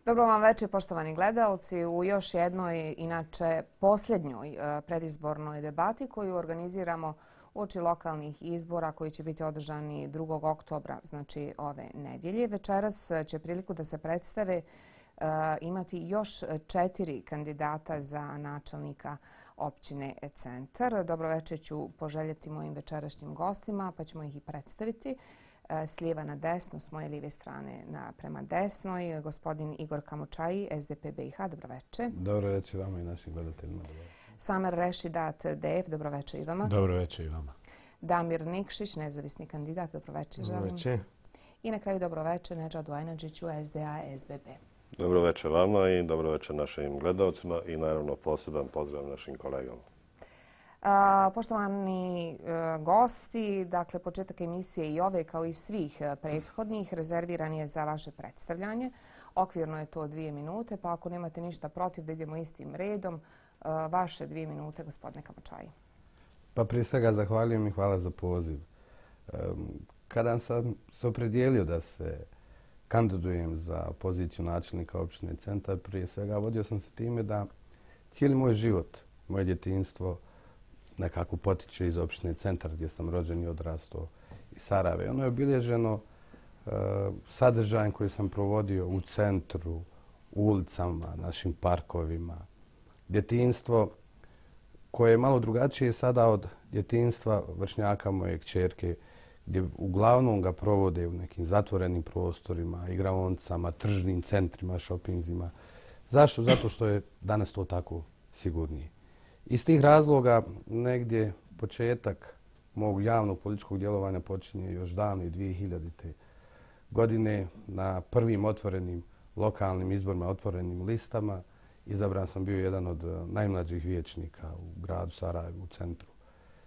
Dobro vam večer, poštovani gledalci. U još jednoj, inače posljednjoj predizbornoj debati koju organiziramo uoči lokalnih izbora koji će biti održani 2. oktobra, znači ove nedjelje. Večeras će priliku da se predstave imati još 4 kandidata za načelnika općine Centar. Dobro večer ću poželjeti mojim večerašnjim gostima, pa ćemo ih i predstaviti. S lijeva na desno, s moje lijeve strane prema desnoj, gospodin Igor Kamočaji, SDP BiH. Dobro večer. Dobro večer vama i našim gledateljima. Samer Rešidat, DF. Dobro večer i vama. Dobro večer i vama. Damir Nikšić, nezavisni kandidat. Dobro večer. Dobro večer. I na kraju dobro večer Nedžadu Ajnadžiću, SDA, SBB. Dobro večer vama i dobro večer našim gledalcima i naravno poseban pozdrav našim kolegama. Poštovani gosti, dakle početak emisije i ove kao i svih prethodnih rezerviran je za vaše predstavljanje. Okvirno je to 2 minute, pa ako nemate ništa protiv da idemo istim redom, vaše 2 minute, gospodine Kamočaji. Pa prije svega zahvaljujem i hvala za poziv. Kada sam se opredijelio da se kandidujem za poziciju načelnika općine Centar, prije svega vodio sam se time da cijeli moj život, moje djetinjstvo nekako potiče iz općine Centar gdje sam rođen i odrastao iz Sarajeva. Ono je obilježeno sadržajem koji sam provodio u centru, u ulicama, našim parkovima. Djetinjstvo koje je malo drugačije sada od djetinjstva vršnjaka moje kćerke, gdje uglavnom ga provode u nekim zatvorenim prostorima, igraonicama, tržnim centrima, šopinzima. Zašto? Zato što je danas to tako sigurnije. Iz tih razloga negdje početak mog javnog političkog djelovanja počinje još davno 2000. godine na prvim otvorenim lokalnim izborima, otvorenim listama. Izabran sam bio jedan od najmlađih vijećnika u gradu Sarajevu, u centru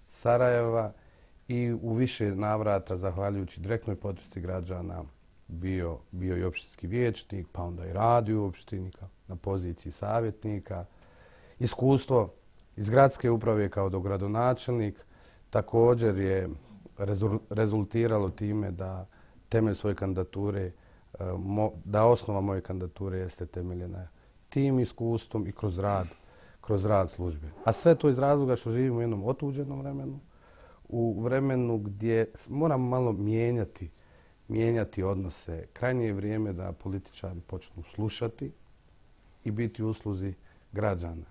Sarajeva i u više navrata, zahvaljujući direktnoj podršci građana, bio i opštinski vijećnik, pa onda i radio u opštini na poziciji savjetnika. Iskustvo iz gradske uprave kao dogradonačelnik također je rezultiralo time da temelj svoje kandidature, da osnova moje kandidature jeste temeljena tim iskustvom i kroz rad službe. A sve to iz razloga što živimo u jednom otuđenom vremenu, u vremenu gdje moramo malo mijenjati odnose. Krajnje je vrijeme da političari počnu slušati i biti u usluzi građana.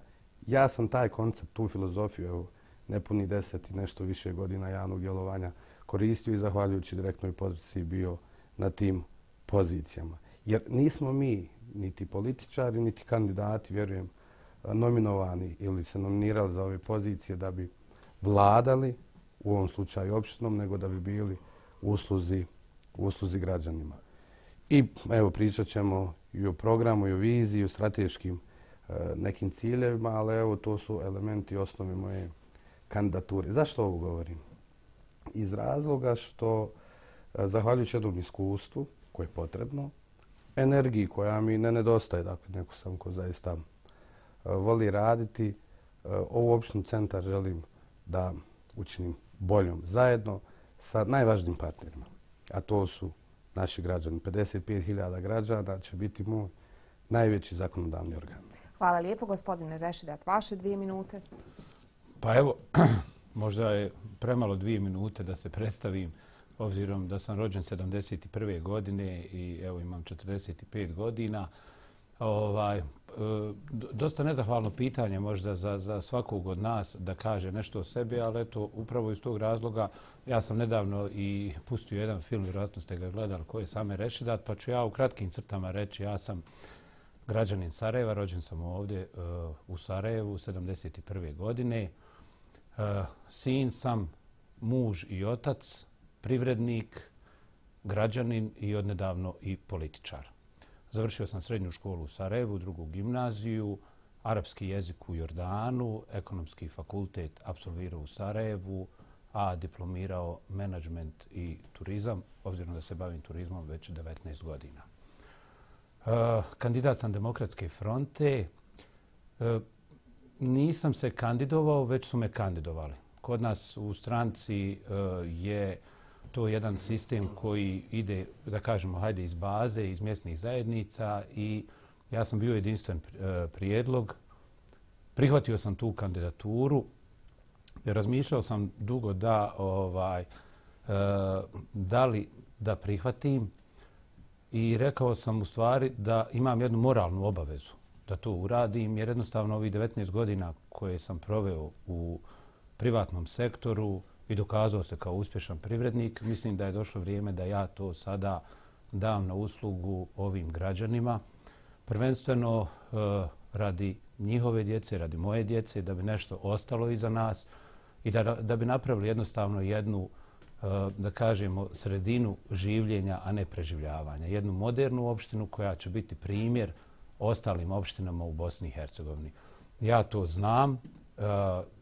Ja sam taj koncept, tu filozofiju, evo, nepuni 10 i nešto više godina javnog djelovanja koristio i zahvaljujući direktnoj podršci bio na tim pozicijama. Jer nismo mi, niti političari, niti kandidati, vjerujem, nominovani ili se nominirali za ove pozicije da bi vladali, u ovom slučaju opštinom, nego da bi bili u usluzi građanima. I evo, pričat ćemo i o programu, i o viziji, i o strateškim nekim ciljevima, ali evo, to su elementi osnove moje kandidature. Zašto ovo govorim? Iz razloga što, zahvaljujući jednom iskustvu koje je potrebno, energiji koja mi ne nedostaje, dakle, neko sam ko zaista voli raditi, ovu opštinu Centar želim da učinim boljom zajedno sa najvažnijim partnerima, a to su naši građani. 55.000 građana će biti moj najveći zakonodavni organ. Hvala lijepo. Gospodine Rešidat, vaše 2 minute. Pa evo, možda je premalo 2 minute da se predstavim, obzirom da sam rođen 71. godine i evo imam 45 godina. Dosta nezahvalno pitanje možda za svakog od nas da kaže nešto o sebi, ali eto, upravo iz tog razloga ja sam nedavno i pustio jedan film, vjerojatno ste ga gledali, koji je Samer Rešidat, pa ću ja u kratkim crtama reći, ja sam građanin Sarajeva, rođen sam ovdje u Sarajevu 71. godine. Sin sam, muž i otac, privrednik, građanin i odnedavno i političar. Završio sam srednju školu u Sarajevu, 2. gimnaziju, arapski jezik u Jordanu, ekonomski fakultet apsolvirao u Sarajevu, a diplomirao menadžment i turizam, obzirom da se bavim turizmom već 19 godina. Kandidat sam Demokratske fronte. Nisam se kandidovao, već su me kandidovali. Kod nas u stranci je to jedan sistem koji ide, da kažemo, hajde iz baze, iz mjesnih zajednica i Ja sam bio jedinstven prijedlog. Prihvatio sam tu kandidaturu. Razmišljao sam dugo da li da prihvatim i rekao sam u stvari da imam jednu moralnu obavezu da to uradim, jer jednostavno ovih 19 godina koje sam proveo u privatnom sektoru i dokazao se kao uspješan privrednik, mislim da je došlo vrijeme da ja to sada dam na uslugu ovim građanima. Prvenstveno radi njihove djece, radi moje djece, da bi nešto ostalo iza nas i da bi napravili jednostavno jednu, da kažemo, sredinu življenja, a ne preživljavanja. Jednu modernu opštinu koja će biti primjer ostalim opštinama u Bosni i Hercegovini. Ja to znam,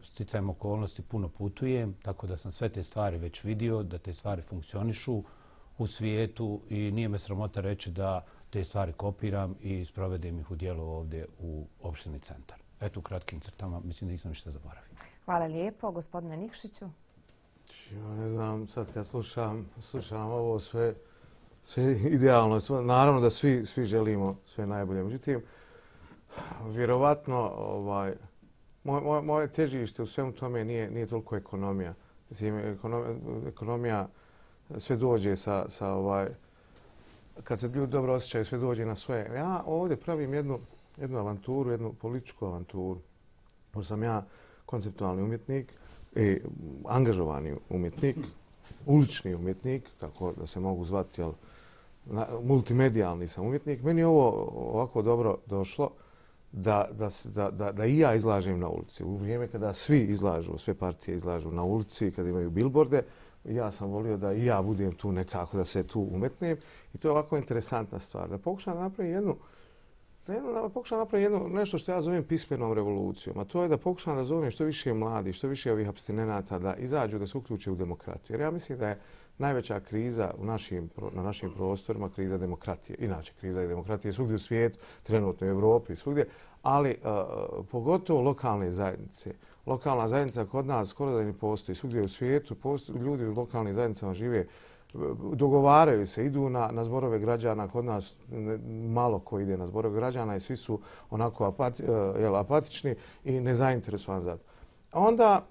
sticajem okolnosti puno putujem, tako da sam sve te stvari već vidio, da te stvari funkcionišu u svijetu i nije me sramota reći da te stvari kopiram i sprovedem ih u dijelu ovdje u opštini Centar. Eto, u kratkim crtama, mislim da nisam ništa zaboravio. Hvala lijepo. Gospodine Nikšiću? Ne znam, sad kad slušam ovo sve idealno. Naravno da svi želimo sve najbolje. Međutim, vjerovatno moje težište u svemu tome nije toliko ekonomija. Mislim, ekonomija sve dođe kad se ljudi dobro osjećaju, sve dođe na svoje. Ja ovdje pravim jednu avanturu, jednu političku avanturu. Jer sam ja konceptualni umjetnik, angažovani umjetnik, ulični umjetnik, tako da se mogu zvati, multimedijalni sam umjetnik. Meni je ovo ovako dobro došlo da i ja izlažem na ulici. U vrijeme kada svi izlažu, sve partije izlažu na ulici, kada imaju bilborde, ja sam volio da i ja budem tu nekako, da se tu umetnem. I to je ovako interesantna stvar. Da pokušam napraviti nešto što ja zovem pismenom revolucijom, a to je da pokušam da zovem što više mladi, što više ovih apstinenata da izađu, da se uključe u demokratiju. Jer ja mislim da je najveća kriza na našim prostorima kriza demokratije. Inače, kriza demokratije svugdje u svijetu, trenutno u Evropi, svugdje, ali pogotovo lokalne zajednice. Lokalna zajednica kod nas skoro da ne postoji. Svugdje u svijetu ljudi u lokalnim zajednicama žive, dogovaraju se, idu na zborove građana. Kod nas malo ko ide na zborove građana i svi su onako apatični i nezainteresovani za to. Onda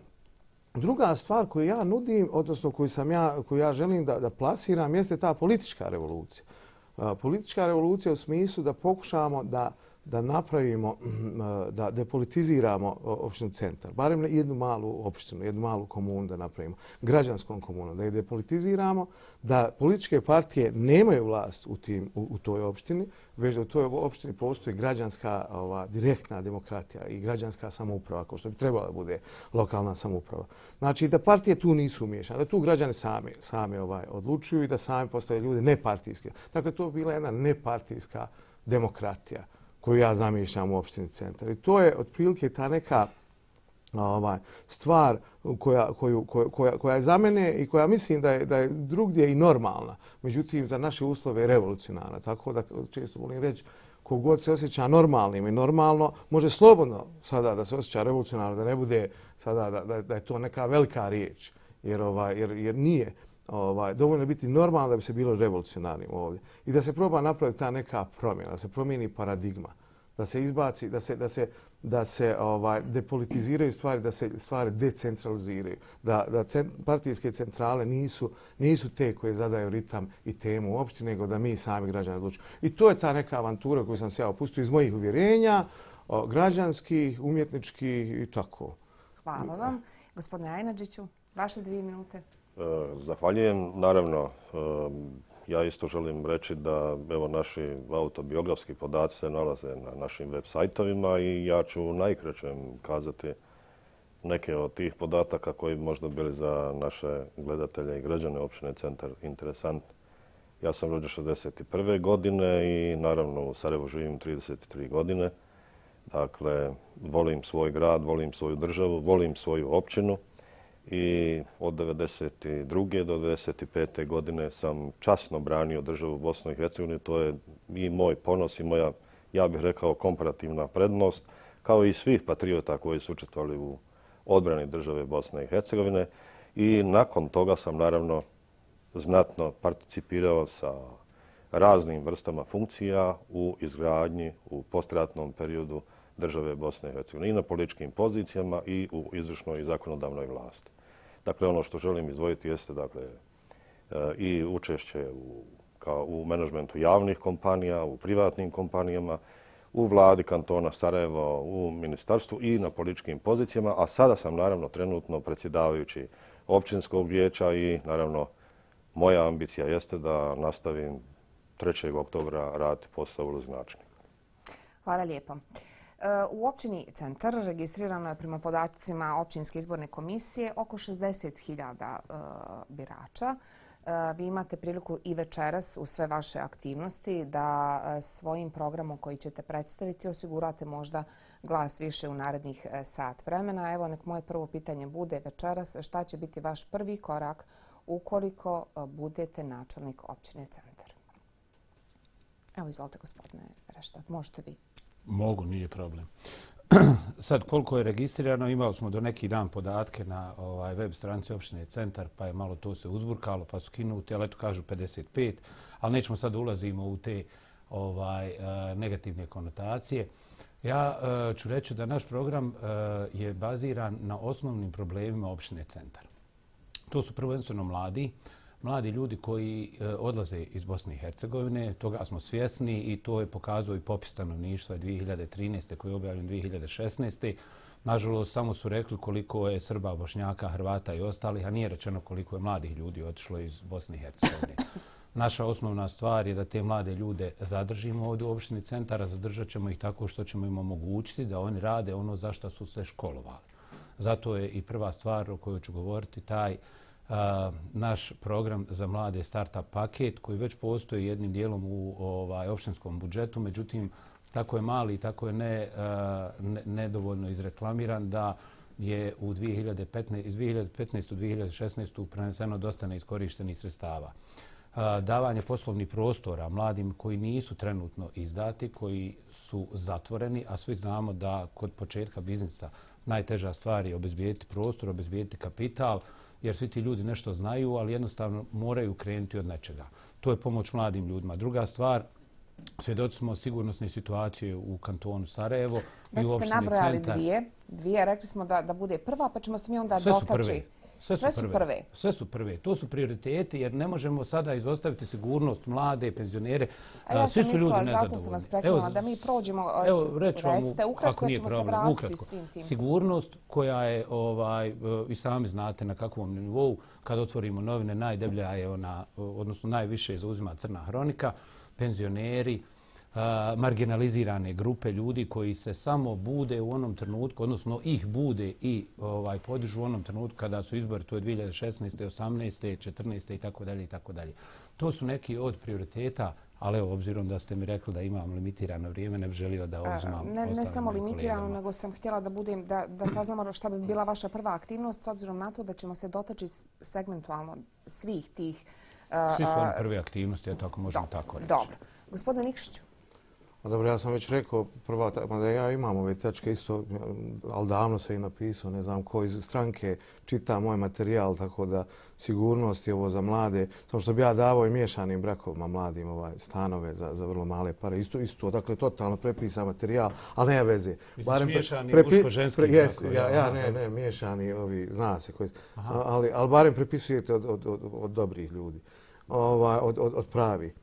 druga stvar koju ja nudim, odnosno koju ja želim da plasiram, jeste ta politička revolucija. Politička revolucija u smislu da pokušamo da napravimo, da depolitiziramo opštinu Centar. Barem jednu malu opštinu, jednu malu komunu da napravimo. Građanskom komunu. Da je depolitiziramo, da političke partije nemaju vlast u toj opštini, već da u toj opštini postoji građanska direktna demokratija i građanska samouprava, kao što bi trebala da bude lokalna samouprava. Znači da partije tu nisu umiješane, da tu građani sami odlučuju i da sami postaju ljudi nepartijski. Dakle, to je bila jedna nepartijska demokratija koju ja zamišljam u opštini Centar. I to je otprilike ta neka stvar koja je za mene i koja mislim da je drugdje i normalna. Međutim, za naše uslove je revolucionarna. Tako da često volim reći, kogod se osjeća normalnim i normalno, može slobodno sada da se osjeća revolucionarno, da ne bude sada da je to neka velika riječ. Jer nije. Dovoljno je biti normalno da bi se bilo revolucionarnim ovdje. I da se proba napraviti ta neka promjena, da se promijeni paradigma, da se izbaci, da se depolitiziraju stvari, da se stvari decentraliziraju, da partijske centrale nisu te koje zadaju ritam i temu uopšte, nego da mi sami građani odlučujemo. I to je ta neka avantura koju sam se ja opustio iz mojih uvjerenja, građanskih, umjetničkih i tako. Hvala vam. Gospodine Ajnadžiću, vaše 2 minute. Zahvaljujem. Naravno, ja isto želim reći da naši autobiografski podaci se nalaze na našim web sajtovima i ja ću najkraćem kazati neke od tih podataka koji bi možda bili za naše gledatelje i građane opštine Centar interesantni. Ja sam rođen 1961. godine i naravno u Sarajevu živim 33 godine. Dakle, volim svoj grad, volim svoju državu, volim svoju općinu. I od 1992. do 1995. godine sam časno branio državu Bosnu i Hercegovinu. To je i moj ponos i moja, ja bih rekao, komparativna prednost, kao i svih patriota koji su učestvovali u odbrani države Bosne i Hercegovine. I nakon toga sam naravno znatno participirao sa raznim vrstama funkcija u izgradnji u postratnom periodu države Bosne i Hercegovine i na političkim pozicijama i u izvršnoj i zakonodavnoj vlasti. Dakle, ono što želim izdvojiti jeste i učešće u menadžmentu javnih kompanija, u privatnim kompanijama, u vladi kantona Sarajevo, u ministarstvu i na političkim pozicijama, a sada sam naravno trenutno predsjedavajući općinskog vijeća i naravno moja ambicija jeste da nastavim 3. oktobra raditi posao uloznačnika. Hvala lijepo. U općini Centar registrirano je prema podacima općinske izborne komisije oko 60.000 birača. Vi imate priliku i večeras u sve vaše aktivnosti da svojim programom koji ćete predstaviti osigurate možda glas više u narednih sat vremena. Evo, nek moje prvo pitanje bude večeras. Šta će biti vaš prvi korak ukoliko budete načelnik općine Centar? Evo, izvolite, gospodine Reštat. Možete vi. Mogu, nije problem. Sad, koliko je registrirano, imali smo do neki dan podatke na web stranici opštine Centar, pa je malo to se uzburkalo, pa su skinuti, ali eto kažu 55, ali nećemo sad ulazimo u te negativne konotacije. Ja ću reći da naš program je baziran na osnovnim problemima opštine Centar. To su prvenstveno mladi ljudi koji odlaze iz Bosne i Hercegovine, toga smo svjesni i to je pokazao i popis stanovništva 2013. koji je objavljen 2016. Nažalost, samo su rekli koliko je Srba, Bošnjaka, Hrvata i ostalih, a nije rečeno koliko je mladih ljudi otišlo iz Bosne i Hercegovine. Naša osnovna stvar je da te mlade ljude zadržimo ovdje u opštini Centara, zadržat ćemo ih tako što ćemo im omogućiti da oni rade ono za što su se školovali. Zato je i prva stvar o kojoj ću govoriti taj naš program za mlade startup paket koji već postoji jednim dijelom u opštinskom budžetu, međutim tako je mali i tako je nedovoljno izreklamiran da je iz 2015. u 2016. preneseno dosta neiskorištenih sredstava. Davanje poslovnih prostora mladim koji nisu trenutno izdati, koji su zatvoreni, a svi znamo da kod početka biznisa najteža stvar je obezbijediti prostor, obezbijediti kapital, jer svi ti ljudi nešto znaju, ali jednostavno moraju krenuti od nečega. To je pomoć mladim ljudima. Druga stvar, svjedoci smo sigurnosne situacije u kantonu Sarajevo i u opštini Centar. Već ste nabrojali dvije, rekli smo da bude prva, pa ćemo se mi onda dotaći. Sve su prve. To su prioriteti jer ne možemo sada izostaviti sigurnost, mlade, penzionere. Ja Svi su ljudi nezadovoljni. Zato sam vas prekinula da mi prođemo, recite ukratko, ćemo se vratiti svim tim. Sigurnost koja je, i sami znate na kakvom nivou, kad otvorimo novine, najdeblja je ona, odnosno najviše zauzima crna hronika, penzioneri, marginalizirane grupe ljudi koji se samo bude u onom trenutku, odnosno ih bude i podižu u onom trenutku kada su izbori, to je 2016. 18. 14. i tako dalje i tako dalje. To su neki od prioriteta, ali evo, obzirom da ste mi rekli da imam limitirano vrijeme, ne bih želio da uzmam ne samo limitirano, nego sam htjela da saznamo šta bi bila vaša prva aktivnost, s obzirom na to da ćemo se dotaći segmentualno svih tih... Svi su oni prve aktivnosti, ako možemo tako reći. Dobro. Gospodine Nikšiću. Dobro, ja sam već rekao da ja imam ove tačke isto, ali davno se i napisao, ne znam ko iz stranke čita moj materijal, tako da sigurnost je ovo za mlade. Samo što bi ja davao i miješanim brakovima mladim stanove za vrlo male pare. Isto, dakle, totalno prepisan materijal, ali nema veze. Misliš miješani muško-ženski brakovi? Ne, miješani, zna se koji. Ali barem prepisujete od dobrih ljudi, od pravih.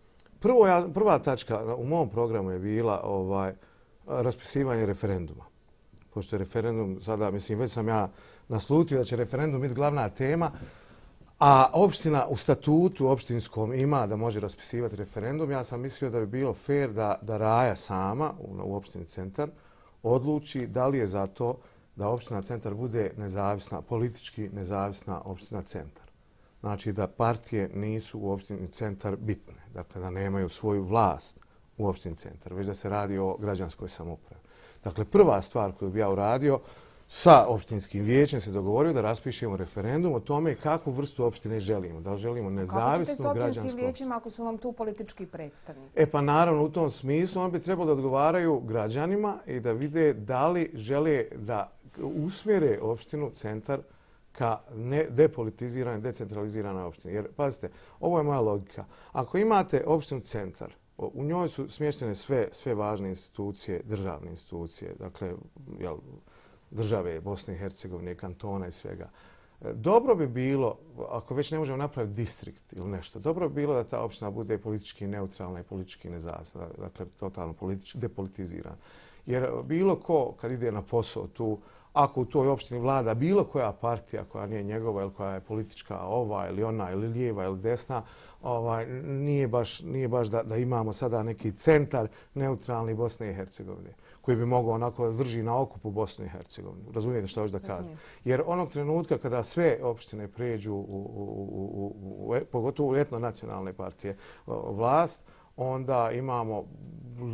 Prva tačka u mom programu je bila raspisivanje referenduma. Pošto je referendum sada, mislim, već sam ja naslutio da će referendum biti glavna tema, a opština u statutu opštinskom ima da može raspisivati referendum. Ja sam mislio da bi bilo fair da Raja sama u opštini Centar odluči da li je za to da opština Centar bude nezavisna, politički nezavisna opština Centar. Znači da partije nisu u opštini Centar bitne, dakle da nemaju svoju vlast u opštini Centar, već da se radi o građanskoj samoupravi. Dakle, prva stvar koju bi ja uradio, sa opštinskim vijećem se dogovorio da raspišemo referendum o tome kakvu vrstu opštine želimo. Da li želimo nezavisnu građansku... Kako ćete s opštinskim vijećima ako su vam tu politički predstavnici? Pa naravno, u tom smislu on bi trebalo da odgovaraju građanima i da vide da li žele da usmjere opštinu Centar ka depolitiziranoj, decentraliziranoj opštini. Jer, pazite, ovo je moja logika. Ako imate opštinu centar, u njoj su smještene sve važne institucije, državne institucije, dakle, države Bosne i Hercegovine, kantona i svega. Dobro bi bilo, ako već ne možemo napraviti distrikt ili nešto, dobro bi bilo da ta opština bude politički neutralna i politički nezavisna, dakle, totalno politički depolitizirana. Jer bilo ko, kad ide na posao tu, ako u toj opštini vlada bilo koja partija koja nije njegova ili koja je politička ova ili ona ili lijeva ili desna, nije baš da imamo sada neki centar neutralni Bosne i Hercegovine koji bi mogao onako da drži na okupu Bosnu i Hercegovinu. Razumijete što hoću da kažem? Jer onog trenutka kada sve opštine pređu, pogotovo u etnonacionalne partije, vlast, onda imamo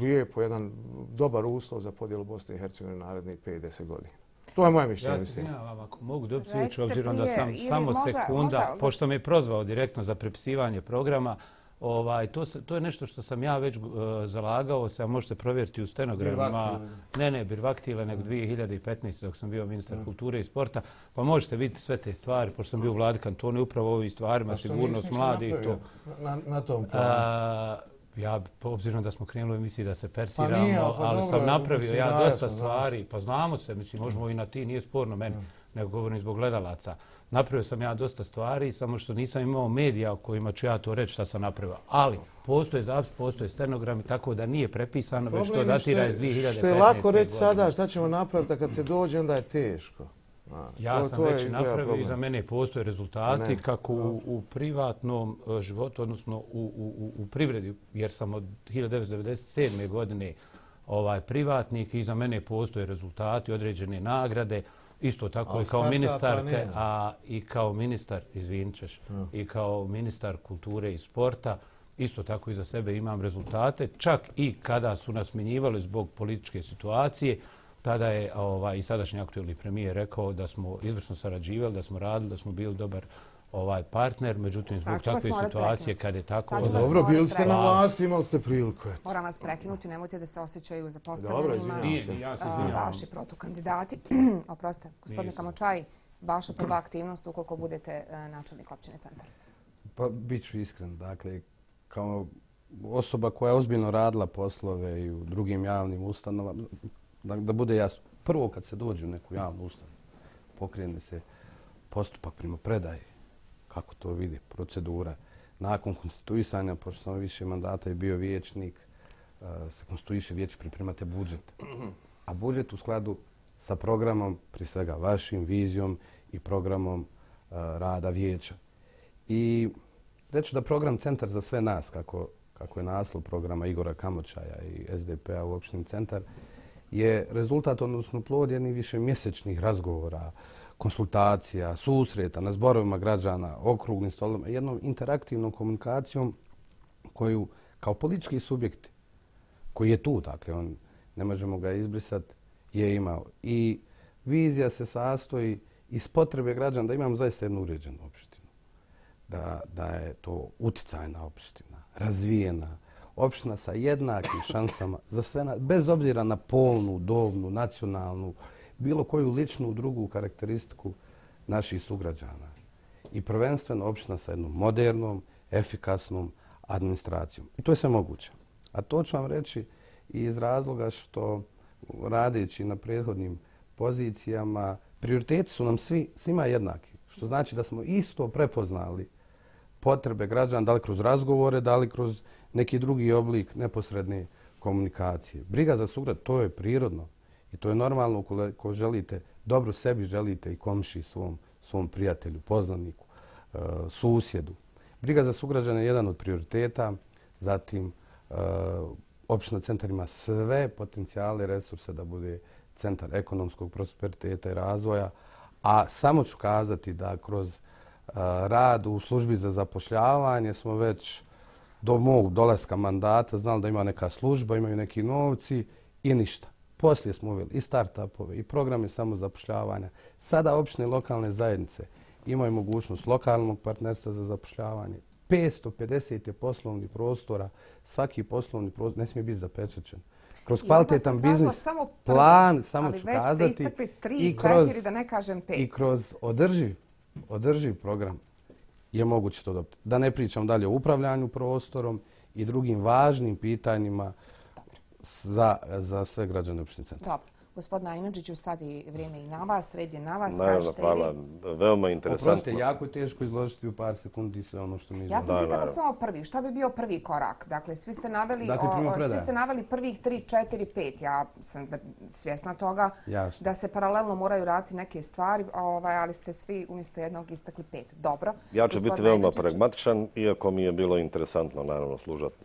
lijepo jedan dobar uslov za podjelu Bosne i Hercegovine narednih 5-10 godina. To je moje mišljenje. Ja se izvinjavam, ako mogu dobiti riječ, obzirom da sam samo sekunda, pošto me je prozvao direktno za prepisivanje programa, to je nešto što sam ja već zalagao se, a možete provjeriti u stenogramima. Ne Birvaktile, nego 2015. dok sam bio ministar kulture i sporta. Pa možete vidjeti sve te stvari, pošto sam bio u vladi kantona, upravo ovim stvarima, sigurnost mladi i to. Na tom planu? Ja, obzirom da smo krenuli u emisiji da se persiramo, ali sam napravio ja dosta stvari. Pa znamo se, mislim, možemo i na ti, nije sporno meni, nego govorim zbog gledalaca. Napravio sam ja dosta stvari, samo što nisam imao medija o kojima ću ja to reći šta sam napravio. Ali postoje zapis, postoje stenogrami, tako da nije prepisano, već to datira iz 2015. godine. Što je lako reći sada šta ćemo napraviti, a kad se dođe, onda je teško. Ja sam već napravio i za mene postoje rezultati kako u privatnom životu, odnosno u privredi, jer sam od 1997. godine privatnik i za mene postoje rezultati, određene nagrade, isto tako i kao ministarke, a i kao ministar, izvinit ćeš, i kao ministar kulture i sporta, isto tako i za sebe imam rezultate, čak i kada su nas smjenjivali zbog političke situacije. Tada je i sadašnji aktuelni premijer rekao da smo izvrsno sarađivali, da smo radili, da smo bili dobar partner, međutim zbog takve situacije kad je tako... Dobro, bili ste na vlasti, imali ste priliku. Moram vas prekinuti, nemojte da se osjećaju zapostavljenima vaši protukandidati. Oprostite, gospodine Kamočaj, vaša prva aktivnost ukoliko budete načelnik općine Centar. Pa bit ću iskren, dakle, kao osoba koja je ozbiljno radila poslove i u drugim javnim ustanovama, da bude jasno, prvo kad se dođe u neku javnu ustanovu, pokrene se postupak primopredaje, kako to vidi, procedura. Nakon konstituisanja, pošto sam više mandata i bio vijećnik, se konstituiše vijeće, pripremate budžet. A budžet u skladu sa programom, prije svega vašim, vizijom i programom rada vijeća. I reći da program Centar za sve nas, kako je naslov programa Igora Kamočaja i SDP-a u opštini Centar, je rezultat, odnosno plod jednih višemjesečnih razgovora, konsultacija, susreta na zborovima građana, okruglim stolima, jednom interaktivnom komunikacijom koju kao politički subjekti, koji je tu, dakle, ne možemo ga izbrisati, je imao. I vizija se sastoji iz potrebe građana da imamo zaista jednu uređenu opštinu. Da je to uticajna opština, razvijena, opština sa jednakim šansama za sve, bez obzira na polnu, dobnu, nacionalnu, bilo koju ličnu drugu karakteristiku naših sugrađana. I prvenstveno opština sa jednom modernom, efikasnom administracijom. I to je sve moguće. A to ću vam reći iz razloga što radeći na prethodnim pozicijama, prioriteti su nam svima jednaki. Što znači da smo isto prepoznali potrebe građana, da li kroz razgovore, da li kroz neki drugi oblik neposredne komunikacije. Briga za sugrad, to je prirodno i to je normalno ukoliko želite dobro sebi, želite i komši svom prijatelju, poznaniku, susjedu. Briga za sugrađane je jedan od prioriteta, zatim opština Centar ima sve potencijale i resurse da bude centar ekonomskog prosperiteta i razvoja, a samo ću kazati da kroz rad u službi za zapošljavanje smo već do mog dolaska mandata znali da ima neka služba, imaju neki novci i ništa. Poslije smo uveli i start-upove i programe samozapošljavanja. Sada opštine lokalne zajednice imaju mogućnost lokalnog partnerstva za zapošljavanje. 550 je poslovnih prostora, svaki poslovni prostor ne smije biti zapečaćen. Kroz kvalitetan biznis plan, samo ću kazati, i kroz održiv održiv program je moguće to dobiti. Da ne pričam dalje o upravljanju prostorom i drugim važnim pitanjima za sve građane opštine Centar. Dobro. Gospodine Ajnadžiću, sad je vrijeme i na vas, red je na vas, Naravno, kažete i hvala. vi. Veoma interesantno. Oprostite, jako je teško izložiti u par sekundi sve ono što mi želimo. Ja sam pitala samo prvi. Što bi bio prvi korak? Dakle, svi ste naveli prvih 3, 4, 5. Ja sam svjesna toga da se paralelno moraju raditi neke stvari, ali ste svi umjesto jednog istakli 5. Dobro. Ja ću biti veoma pragmatičan, iako mi je bilo interesantno naravno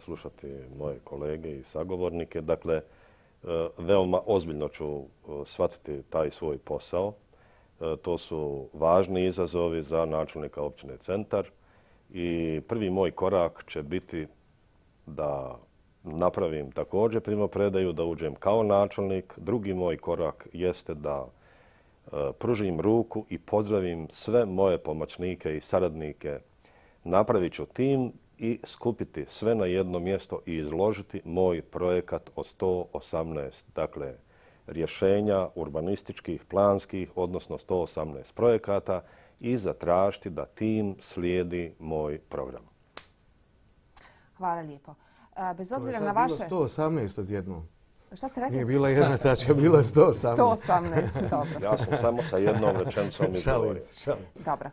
slušati moje kolege i sagovornike. Dakle, veoma ozbiljno ću shvatiti taj svoj posao. To su važni izazovi za načelnika općine Centar i prvi moj korak će biti da napravim također primopredaju, da uđem kao načelnik. Drugi moj korak jeste da pružim ruku i pozdravim sve moje pomoćnike i saradnike. Napravit ću tim i skupiti sve na jedno mjesto i izložiti moj projekat od 118, dakle, rješenja urbanističkih, planskih, odnosno 118 projekata i zatražiti da tim slijedi moj program. Hvala lijepo. Bez obzira na vaše... To je sad bilo 118 odjednom. Šta ste rekli? Nije bila jedna tačka, bilo je 118. 118, dobro. Ja sam samo sa jednom rečenicom izgovorio. Dobro.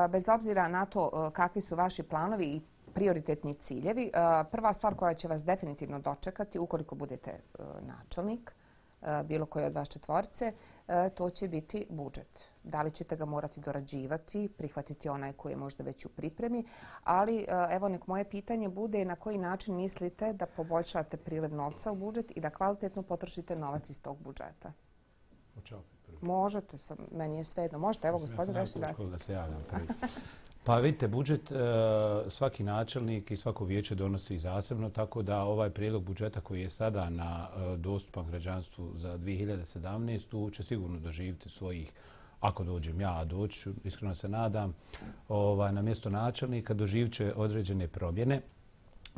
Bez obzira na to kakvi su vaši planovi i prioritetni ciljevi, prva stvar koja će vas definitivno dočekati, ukoliko budete načelnik, bilo koji od vas četvorice, to će biti budžet. Da li ćete ga morati dorađivati, prihvatiti onaj koji je možda već u pripremi, ali evo nek moje pitanje bude na koji način mislite da poboljšate priliv novca u budžet i da kvalitetno potrošite novac iz tog budžeta. Možete, meni je svejedno. Možete, evo gospodin Reši dati. Da se javljam prvi. Pa vidite, budžet svaki načelnik i svako vijeće donosi zasebno, tako da ovaj prijedlog budžeta koji je sada dostupan građanstvu za 2017. će sigurno doživjeti svojih, ako dođem ja, a doći ću, iskreno se nadam, na mjesto načelnika doživit će određene promjene.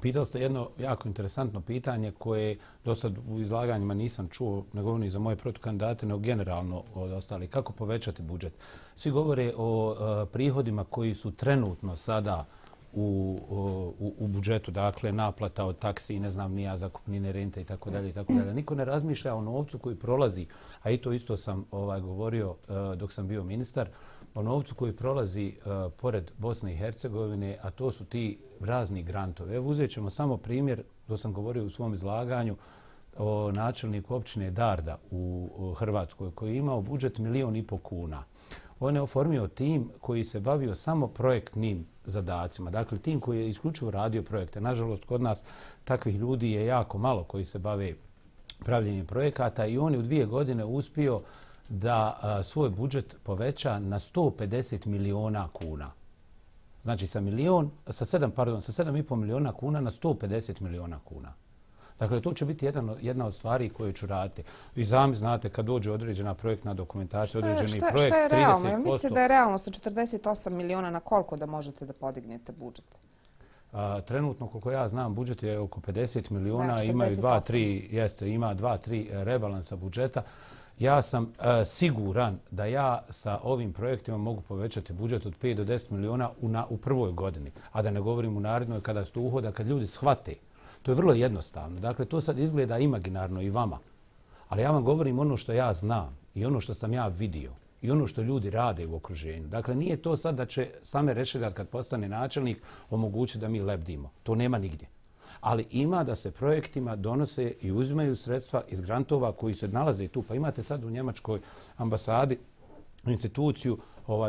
Pitali ste jedno jako interesantno pitanje koje do sad u izlaganjima nisam čuo, ne govorim za moje protukandidate, nego generalno od ostalih. Kako povećati budžet? Svi govore o prihodima koji su trenutno sada u budžetu, dakle naplata od taksi, ne znam nija, zakupnine, rente i tako dalje. Niko ne razmišlja o novcu koji prolazi, a i to isto sam govorio dok sam bio ministar, o novcu koji prolazi pored Bosne i Hercegovine, a to su ti razni grantovi. Evo uzet ćemo samo primjer, to sam govorio u svom izlaganju, o načelniku općine Darda u Hrvatskoj koji je imao budžet 1,5 milijuna kuna. On je oformio tim koji se bavio samo projektnim zadacima. Dakle, tim koji je isključivo radio projekte. Nažalost, kod nas takvih ljudi je jako malo koji se bave pravljenjem projekata i on je u 2 godine uspio da svoj budžet poveća na 150 miliona kuna. Znači sa 7,5 miliona kuna na 150 miliona kuna. Dakle, to će biti jedna od stvari koje ću raditi. Vi sami znate kad dođe određena projektna dokumentacija, određeni projekt, 30%. Što je realno? Mislite da je realno sa 48 miliona na koliko da možete da podignete budžet? Trenutno, koliko ja znam, budžet je oko 50 miliona, imaju 2-3 rebalansa budžeta. Ja sam siguran da ja sa ovim projektima mogu povećati budžet od 5 do 10 miliona u prvoj godini, a da ne govorim u narednoj kada se to uhoda, kad ljudi shvate. To je vrlo jednostavno. Dakle, to sad izgleda imaginarno i vama. Ali ja vam govorim ono što ja znam i ono što sam ja vidio i ono što ljudi rade u okruženju. Dakle, nije to sad da će Same Rešedat kad postane načelnik omogućiti da mi lebdimo. To nema nigdje. Ali ima da se projektima donose i uzimaju sredstva iz grantova koji se nalaze i tu. Pa imate sad u Njemačkoj ambasadi instituciju,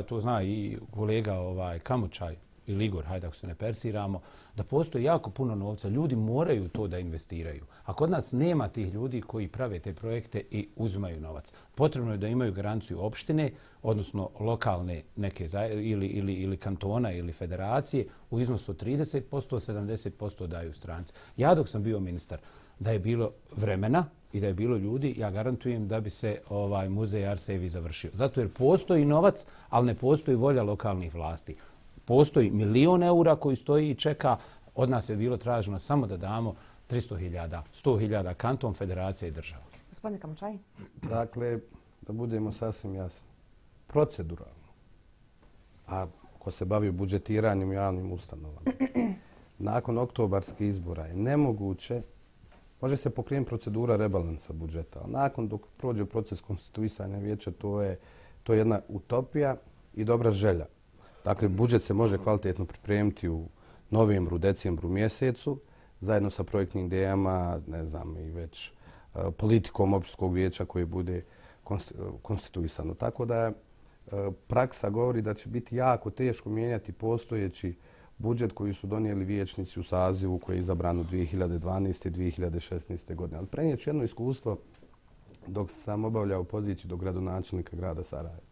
to zna i kolega Kamočaj ili Igor, hajde ako se ne persiramo, da postoji jako puno novca. Ljudi moraju to da investiraju. A kod nas nema tih ljudi koji prave te projekte i uzimaju novac. Potrebno je da imaju garanciju opštine, odnosno lokalne neke ili kantona ili federacije u iznosu od 30%, 70% daju stranci. Ja dok sam bio ministar, da je bilo vremena i da je bilo ljudi, ja garantujem da bi se muzej Arsevi završio. Zato jer postoji novac, ali ne postoji volja lokalnih vlasti. Postoji 1 milion eura koji stoji i čeka. Od nas je bilo traženo samo da damo 300.000, 100.000 kanton, federacija i država. Gospodine Kamočaj? Dakle, da budemo sasvim jasni, proceduralno a ko se bavi budžetiranjem u javnim ustanovama, nakon oktobarskih izbora je nemoguće, može se pokrenuti procedura rebalansa budžeta, ali nakon dok prođe proces konstituisanja vijeća, to je jedna utopija i dobra želja. Dakle, budžet se može kvalitetno pripremiti u novembru, decembru mjesecu, zajedno sa projektnim idejama, ne znam, i već politikom općinskog vijeća koje bude konstituisano. Tako da praksa govori da će biti jako teško mijenjati postojeći budžet koji su donijeli vijećnici u sazivu koji je izabran 2012. i 2016. godine. Ali prenijet ću jedno iskustvo dok sam obavljao poziciju do gradonačelnika grada Sarajeva.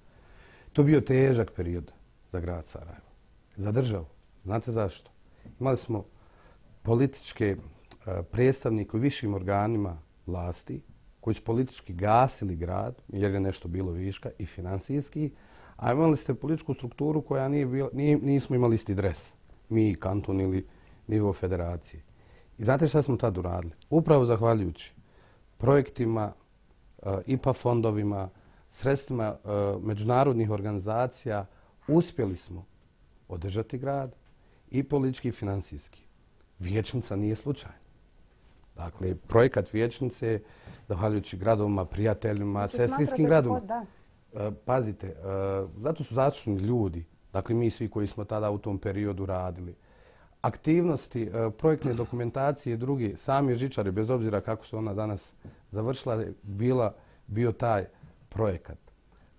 To je bio težak period za grad Sarajevo, za državu. Znate zašto? Imali smo političke predstavnike u višim organima vlasti koji su politički gasili grad jer je nešto bilo viška i finansijski, a imali ste političku strukturu koja nismo imali isti dres. Mi, kanton ili nivo federacije. I znate šta smo tad uradili? Upravo zahvaljujući projektima, IPA fondovima, sredstvima međunarodnih organizacija, uspjeli smo održati grad i politički i finansijski. Vijećnica nije slučajna. Dakle, projekat vijećnice, zahvaljujući gradovima, prijateljima, sestrinskim gradovima. Pazite, zato su zaslužni ljudi, dakle mi svi koji smo tada u tom periodu radili. Aktivnosti, projektne dokumentacije i drugi, sami žičari, bez obzira kako se ona danas završila, bio taj projekat.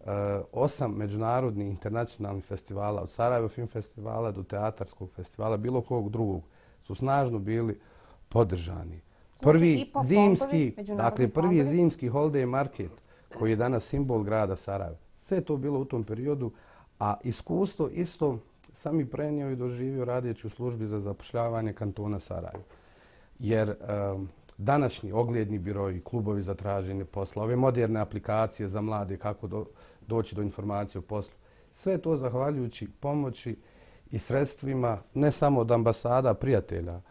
8 međunarodnih internacionalnih festivala, od Sarajevo Film festivala do Teatarskog festivala, bilo kog drugog, su snažno bili podržani. Prvi zimski holiday market, koji je danas simbol grada Sarajeva. Sve je to bilo u tom periodu, a iskustvo isto sam i prenio i doživio radeći u službi za zapošljavanje kantona Sarajeva. Jer današnji ogledni biroi, klubovi za traženje posla, ove moderne aplikacije za mlade, kako doći do informacije o poslu, sve to zahvaljujući pomoći i sredstvima ne samo od ambasada prijatelja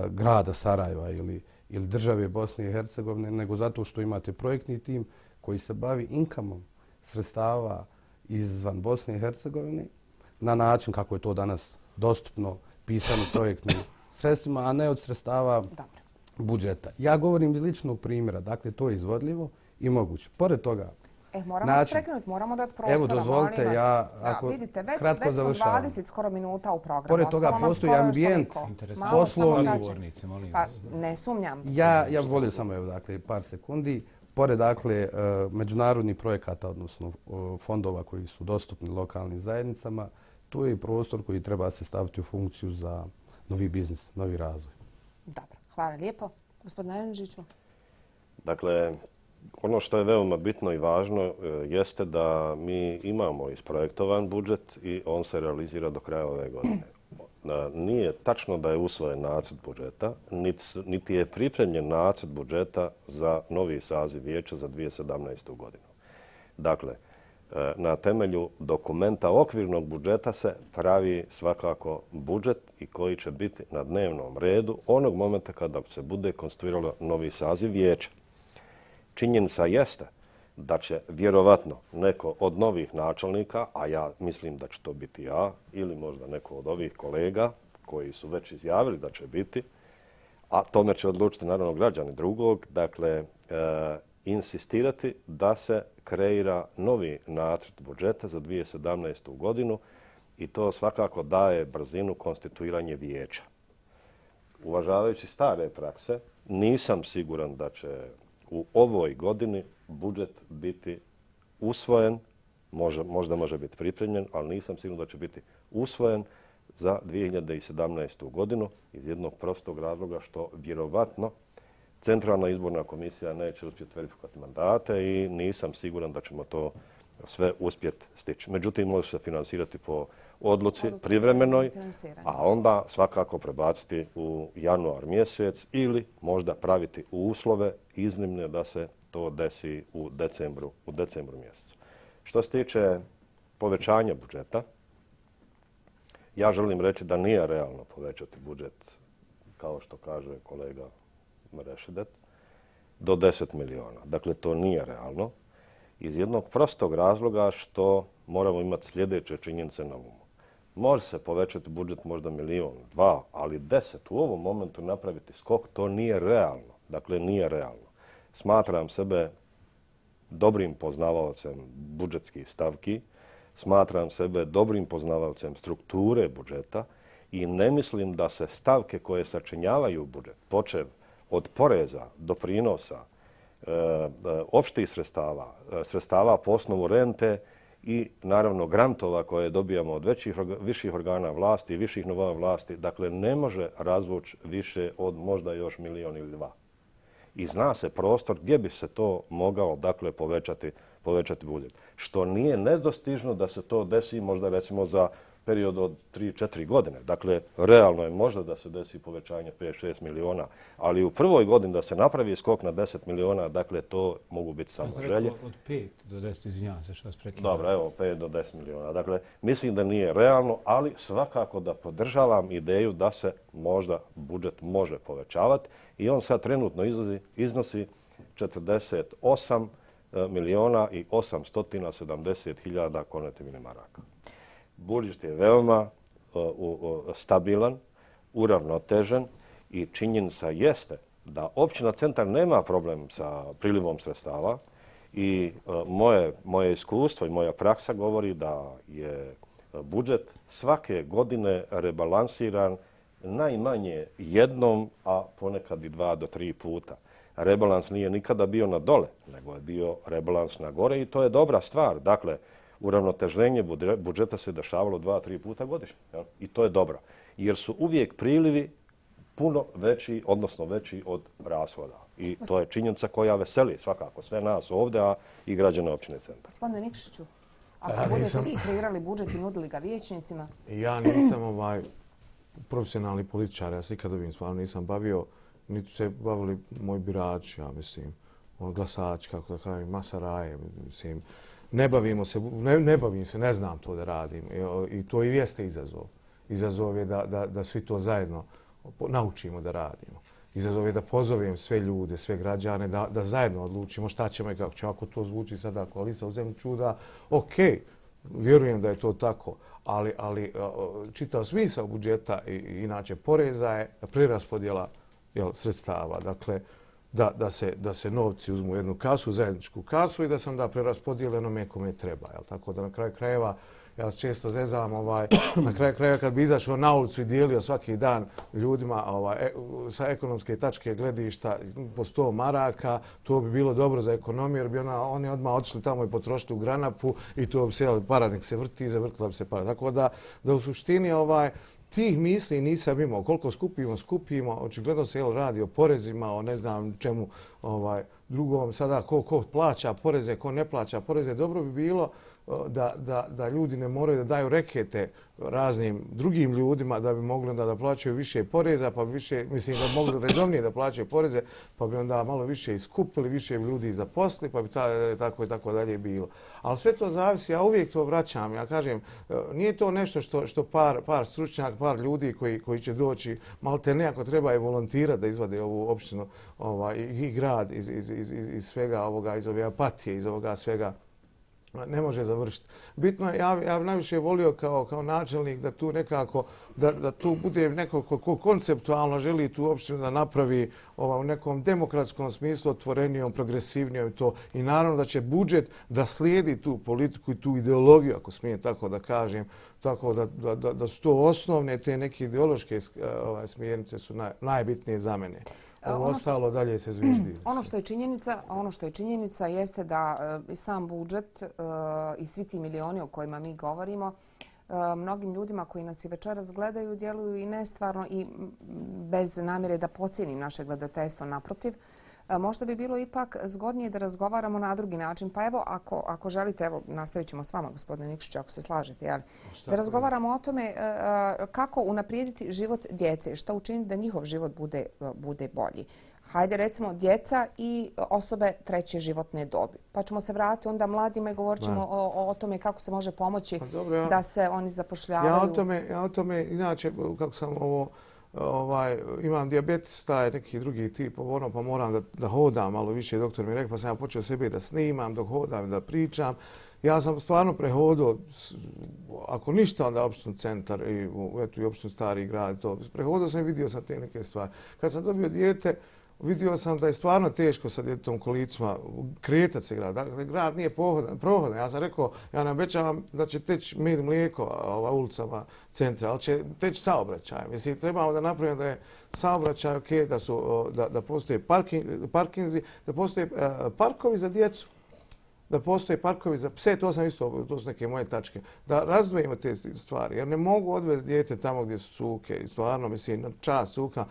grada Sarajeva ili države Bosne i Hercegovine, nego zato što imate projektni tim koji se bavi inkamom sredstava izvan Bosne i Hercegovine na način kako je to danas dostupno pisano projektnim sredstvima, a ne od sredstava budžeta. Ja govorim iz ličnog primjera, dakle to je izvodljivo i moguće. Pored toga, moramo se prekinuti, moramo dati prostora. Evo, dozvolite, ja ako kratko završavam. Vidite, već 20 skoro minuta u programu. Pored toga postoji ambijent poslovni. Pa ne sumnjam. Ja volio samo par sekundi. Pored međunarodnih projekata, odnosno fondova koji su dostupni lokalnim zajednicama, tu je i prostor koji treba se staviti u funkciju za novi biznis, novi razvoj. Dobro, hvala lijepo. Gospodine Janžiću. Dakle, ono što je veoma bitno i važno jeste da mi imamo isprojektovan budžet i on se realizira do kraja ove godine. Nije tačno da je usvojen nacrt budžeta, niti je pripremljen nacrt budžeta za novi saziv vijeća za 2017. godinu. Dakle, na temelju dokumenta okvirnog budžeta se pravi svakako budžet i koji će biti na dnevnom redu onog momenta kada se bude konstituiralo novi saziv vijeća. Činjenica jeste da će vjerovatno neko od novih načelnika, a ja mislim da će to biti ja, ili možda neko od ovih kolega koji su već izjavili da će biti, a tome će odlučiti naravno građani drugog, dakle, insistirati da se kreira novi nacrt budžeta za 2017. godinu i to svakako daje brzinu konstituiranje vijeća. Uvažavajući stare prakse, nisam siguran da će u ovoj godini budžet biti usvojen, možda može biti pripremljen, ali nisam siguran da će biti usvojen za 2017. godinu iz jednog prostog razloga što vjerovatno Centralna izborna komisija neće uspjeti verifikovati mandate i nisam siguran da ćemo to sve uspjeti stići. Međutim, može se finansirati po odluci privremenoj, a onda svakako prebaciti u januar mjesec ili možda praviti uslove iznimne da se to desi u decembru mjesecu. Što se tiče povećanja budžeta, ja želim reći da nije realno povećati budžet, kao što kaže kolega Mrešidet, do 10 miliona. Dakle, to nije realno iz jednog prostog razloga što moramo imati sljedeće činjenice na umu. Može se povećati budžet možda 1.000.000, 2, ali 10 u ovom momentu napraviti skok, to nije realno. Dakle, nije realno. Smatram sebe dobrim poznavaocem budžetskih stavki, smatram sebe dobrim poznavaocem strukture budžeta i ne mislim da se stavke koje sačinjavaju budžet, počev od poreza, doprinosa, opštih sredstava, sredstava po osnovu rente i naravno grantova koje dobijamo od viših organa vlasti i viših nivoa vlasti, dakle ne može razvući više od možda još 1.000.000 ili 2. I zna se prostor gdje bi se to mogao dakle povećati budžet. Što nije nedostižno da se to desi možda recimo za period od 3-4 godine. Dakle, realno je možda da se desi povećanje 5-6 miliona, ali u prvoj godini da se napravi skok na 10 miliona, dakle, to mogu biti samo želje. Od 5 do 10, izvinjavam se što vas prekidam. Dobro, evo, 5 do 10 miliona. Dakle, mislim da nije realno, ali svakako da podržavam ideju da se možda budžet može povećavati i on sad trenutno iznosi 48 miliona i 870 hiljada konvertibilnih maraka. Budžet je veoma stabilan, uravnotežen i činjenica jeste da općina Centar nema problem sa prilivom sredstava i moje iskustvo i moja praksa govori da je budžet svake godine rebalansiran najmanje jednom, a ponekad i 2 do 3 puta. Rebalans nije nikada bio na dole, nego je bio rebalans na gore i to je dobra stvar. Dakle, uravnoteženje budžeta se dešavalo 2-3 puta godišnje. I to je dobro. Jer su uvijek prilivi puno veći, odnosno veći od rashoda. I to je činjenica koja veseli svakako sve nas ovdje, a i građane općine Centar. Gospodine Nikšiću, ako budete vi kreirali budžet i nudili ga vijećnicima? Ja nisam profesionalni političar, ja se ikad ovim stvarno nisam bavio, niti se bavili moji birači, ja mislim, glasači, kako da kažem, masaraje, mislim. Ne bavim se, ne znam to da radim i to i jeste izazov. Izazov je da svi to zajedno naučimo da radimo. Izazov je da pozovem sve ljude, sve građane, da zajedno odlučimo šta ćemo i kako ćemo. Ako to zvuči sada kao Alisa u zemlji čuda, ok, vjerujem da je to tako, ali čitav smisao budžeta i inače poreza je preraspodjela sredstava. Dakle, da se novci uzmu u jednu kasu, zajedničku kasu i da se onda preraspodijele onome kome treba. Tako da na kraju krajeva, ja se često zezam, na kraju krajeva kad bi izašao na ulicu i dijelio svaki dan ljudima sa ekonomske tačke gledišta po 100 maraka, to bi bilo dobro za ekonomiju jer bi oni odmah otišli tamo i potrošili u Granapu i to bi se para nek se vrti i zavrtila bi se para. Tako da u suštini tih misli nisam imao. Koliko skupimo, očigledno se radi o porezima, o ne znam čemu drugom. Sada ko plaća poreze, ko ne plaća poreze. Dobro bi bilo da ljudi ne moraju da daju rekete raznim drugim ljudima da bi mogli da plaćaju više poreza, pa bi više, mislim da bi mogli redovnije da plaćaju poreze, pa bi onda malo više iskupili, više ljudi zaposlili, pa bi tako i tako dalje bilo. Ali sve to zavisi, ja uvijek to vraćam, ja kažem, nije to nešto što par stručnjaka, par ljudi koji će doći, malte ne ako treba i volontirati da izvade ovu opštinu i grad iz svega ovoga, iz ove apatije, iz ovoga svega, ne može završiti. Bitno je, ja bi najviše volio kao načelnik da tu nekako, da tu bude neko ko konceptualno želi tu opštinu da napravi u nekom demokratskom smislu otvorenijom, progresivnijom i to. I naravno da će budžet da slijedi tu politiku i tu ideologiju, ako smijem tako da kažem, tako da su to osnovne te neke ideološke smjernice su najbitnije za mene. Ovo ostalo dalje se zviždi. Ono što je činjenica jeste da i sam budžet i svi ti milioni o kojima mi govorimo mnogim ljudima koji nas i večeras gledaju djeluju i nestvarno i bez namjere da pocijenim naše gledateljstvo naprotiv. Možda bi bilo ipak zgodnije da razgovaramo na drugi način. Pa evo, ako želite, evo, nastavit ćemo s vama, gospodine Nikšić, ako se slažete, jel? Da razgovaramo o tome kako unaprijediti život djece, šta učiniti da njihov život bude bolji. Hajde, recimo, djeca i osobe treće životne dobi. Pa ćemo se vratiti onda mladima i govorit ćemo o tome kako se može pomoći da se oni zapošljavaju. Ja o tome, inače, kako sam imam dijabetes, taj neki drugi tip, pa moram da hodam malo više. Doktor mi je rekao, pa sam ja počeo sebe da snimam dok hodam, da pričam. Ja sam stvarno prehodio, ako ništa, onda opštini centar i opštini Stari grad. Prehodio sam i vidio sam te neke stvari. Kad sam dobio dijete, vidio sam da je stvarno teško sa djetetom kolicima kretati se grad. Dakle, grad nije prohodan. Ja sam rekao, ja ne obećavam da će teći med i mlijeko ulicama centra, ali će teći saobraćaj. Mislim, trebamo da napravimo da je saobraćaj ok, da postoje parkinzi, da postoje parkovi za djecu, da postoje parkovi za pse, to su neke moje tačke, da razdvojimo te stvari, jer ne mogu odvesti dijete tamo gdje su cuke, i stvarno, mislim, na čast cuka.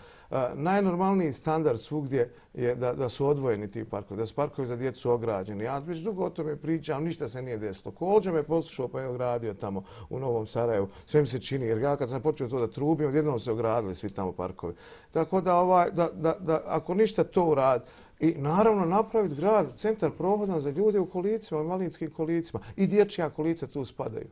Najnormalniji standard svugdje je da su odvojeni ti parkovi, da su parkovi za djecu ograđeni. Ja već dugo o tome pričam, ništa se nije desilo. Kolđe me poslušao pa je ogradio tamo u Novom Sarajevu, sve mi se čini, jer ja kad sam počeo to da trubim, odjednom se ogradili svi tamo parkovi. Tako da ako ništa to uradi, i naravno napraviti grad, centar prohodan za ljude u kolicima, u invalidskim kolicima. I dječja kolica tu spadaju.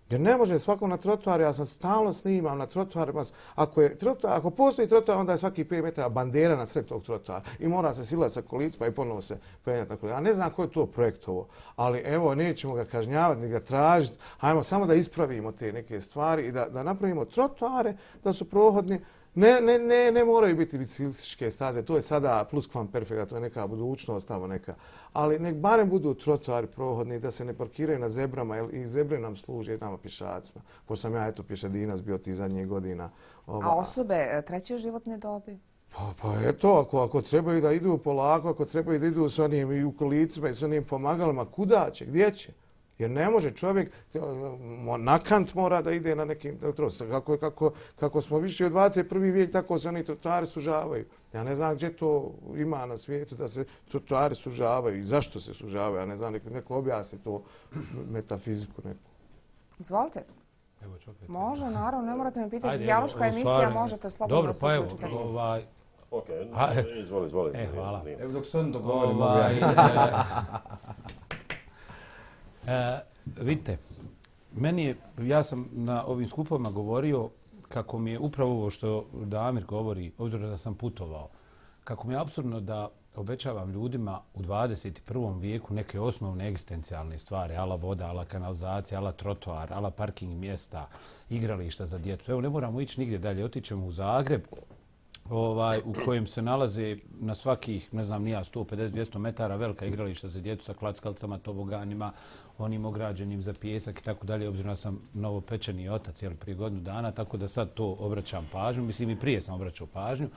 Jer ne može svako na trotoar, ja sam stalno snimam na trotoarima. Ako postoji trotoar, onda je svaki 5 metara bandera na sred tog trotoara. I mora se silati sa kolicima i ponovo se penjati na kolicima. Ja ne znam ko je to projektovo, ali evo, nećemo ga kažnjavati, ni ga tražiti. Hajmo samo da ispravimo te neke stvari i da napravimo trotoare, da su prohodni. Ne moraju biti biciklističke staze, to je sada pluskvamperfekta, to je neka budućnost tamo neka. Ali nek barem budu trotoari prohodni, da se ne parkiraju na zebrama, jer i zebre nam služe nama pješacima. Pošto sam ja pješadinac bio ti zadnjih godina. A osobe treće životne dobi? Pa eto, ako trebaju da idu polako, ako trebaju da idu s onim i u kolicima i s onim pomagalima, kuda će, gdje će? Jer ne može čovjek, na kant mora da ide na nekim trotoarima. Kako smo više od 21. vijek, tako se oni trotoari sužavaju. Ja ne znam gdje to ima na svijetu da se trotoari sužavaju i zašto se sužavaju. Ja ne znam, neko objasni to metafiziku neku. Izvolite. Može, naravno, ne morate me pitati. Dijaloška emisija, možete slobodno da se uključite. Ok, izvoli. Hvala. Evo dok se on dogovorimo. Vidite, ja sam na ovim skupovima govorio kako mi je upravo ovo što Damir govori, obzirom da sam putovao, kako mi je apsurdno da obećavam ljudima u 21. vijeku neke osnovne egzistencijalne stvari, ala voda, ala kanalizacija, ala trotoar, ala parking mjesta, igrališta za djecu. Evo, ne moramo ići nigdje dalje, otićemo u Zagreb, u kojem se nalaze na svakih, ne znam, 150-200 metara velika igrališta za djecu sa klackalcama, toboganima, onim ograđenim za pijesak i tako dalje. Obzirom da sam novopečeni otac prije godinu dana, tako da sad to obraćam pažnju. Mislim, i prije sam obraćao pažnju.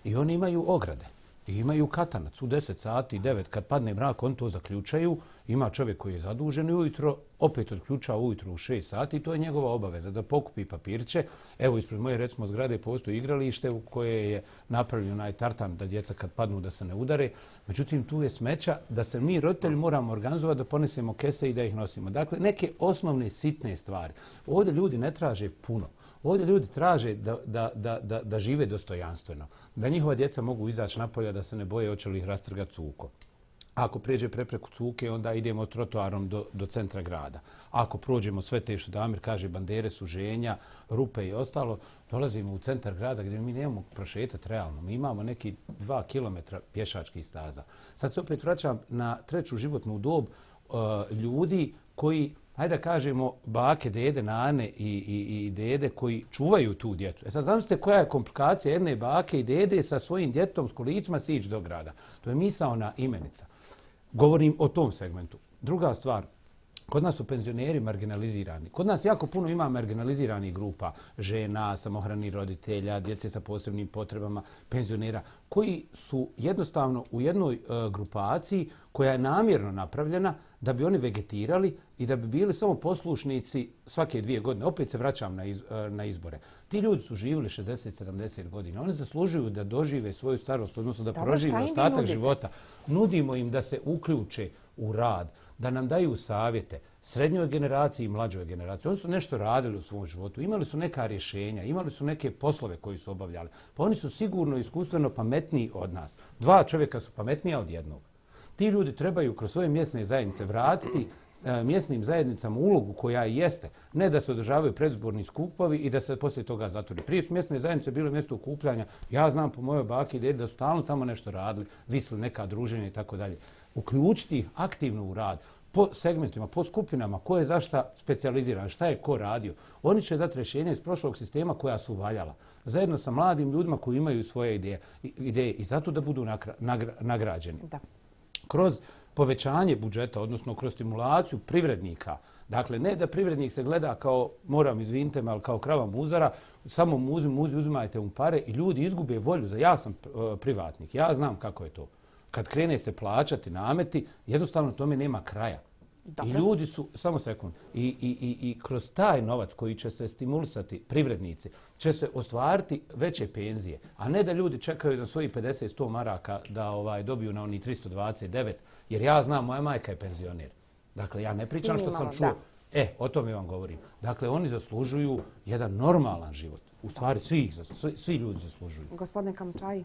I oni imaju ograde. I imaju katanac u 10 sati, 9, kad padne mrak, oni to zaključaju. Ima čovjek koji je zadužen i ujutro opet odključava ujutro u 6 sati. To je njegova obaveza da pokupi papirće. Evo, ispred moje, recimo, zgrade postoji igralište u koje je napravljen onaj tartan da djeca kad padnu da se ne udare. Međutim, tu je smeća da se mi roditelji moramo organizovati da ponesemo kese i da ih nosimo. Dakle, neke osnovne sitne stvari. Ovdje ljudi ne traže puno. Ovdje ljudi traže da žive dostojanstveno, da njihova djeca mogu izaći napolja, da se ne boje hoće li ih rastrgati cuko. Ako prijeđe prepreku cuke, onda idemo trotoarom do centra grada. Ako prođemo sve te što Damir kaže, bandere, suženja, rupe i ostalo, dolazimo u centar grada gdje mi nemamo prošetati realno. Mi imamo neki 2 kilometra pješačkih staza. Sad se opet vraćam na treću životnu dob ljudi koji, hajde da kažemo, bake, dede, nane i dede koji čuvaju tu djecu. Sad zamislite koja je komplikacija jedne bake i dede sa svojim djetom s kolicima sići do grada. To je misaona imenica. Govorim o tom segmentu. Druga stvar, kod nas su penzioneri marginalizirani. Kod nas jako puno ima marginaliziranih grupa, žena, samohranih roditelja, djece sa posebnim potrebama, penzionera, koji su jednostavno u jednoj grupaciji koja je namjerno napravljena da bi oni vegetirali i da bi bili samo poslušnici svake 2 godine. Opet se vraćam na izbore. Ti ljudi su živjeli 60-70 godina. Oni zaslužuju da dožive svoju starost, odnosno da prožive ostatak života. Nudimo im da se uključe u rad, da nam daju savjete srednjoj generaciji i mlađoj generaciji. Oni su nešto radili u svom životu, imali su neka rješenja, imali su neke poslove koji su obavljali. Pa oni su sigurno iskustveno pametniji od nas. 2 čovjeka su pametnija od jednog. Ti ljudi trebaju kroz svoje mjesne zajednice vratiti mjesnim zajednicama ulogu koja jeste. Ne da se održavaju predizborni skupovi i da se poslije toga zatvori. Prije su mjesne zajednice bile mjesto okupljanja. Ja znam po mojoj baki i dedi da su stalno tamo nešto radili, visli neka druženja i tako dalje. Uključiti ih aktivno u rad, po segmentima, po skupinama, ko je zašta specijaliziran, šta je ko radio. Oni će dati rješenje iz prošlog sistema koja su valjala. Zajedno sa mladim ljudima koji imaju svoje ideje i zato da budu nagrađeni. Da. Kroz povećanje budžeta, odnosno kroz stimulaciju privrednika. Dakle, ne da privrednik se gleda kao, moram izvinite me, ali kao krava muzara, samo muzi, uzimajte mu pare i ljudi izgube volju. Ja sam privatnik, ja znam kako je to. Kad krene se plaćati nameti, jednostavno tome nema kraja. Dobre. I ljudi su, samo sekund, i kroz taj novac koji će se stimulisati privrednici, će se ostvariti veće penzije, a ne da ljudi čekaju za svojih 50-100 maraka da dobiju na oni 329, jer ja znam, moja majka je penzioner. Dakle, ja ne pričam što sam čuo. O tome vam govorim. Dakle, oni zaslužuju jedan normalan život. U stvari, svi ljudi zaslužuju. Gospodine Kamčaji.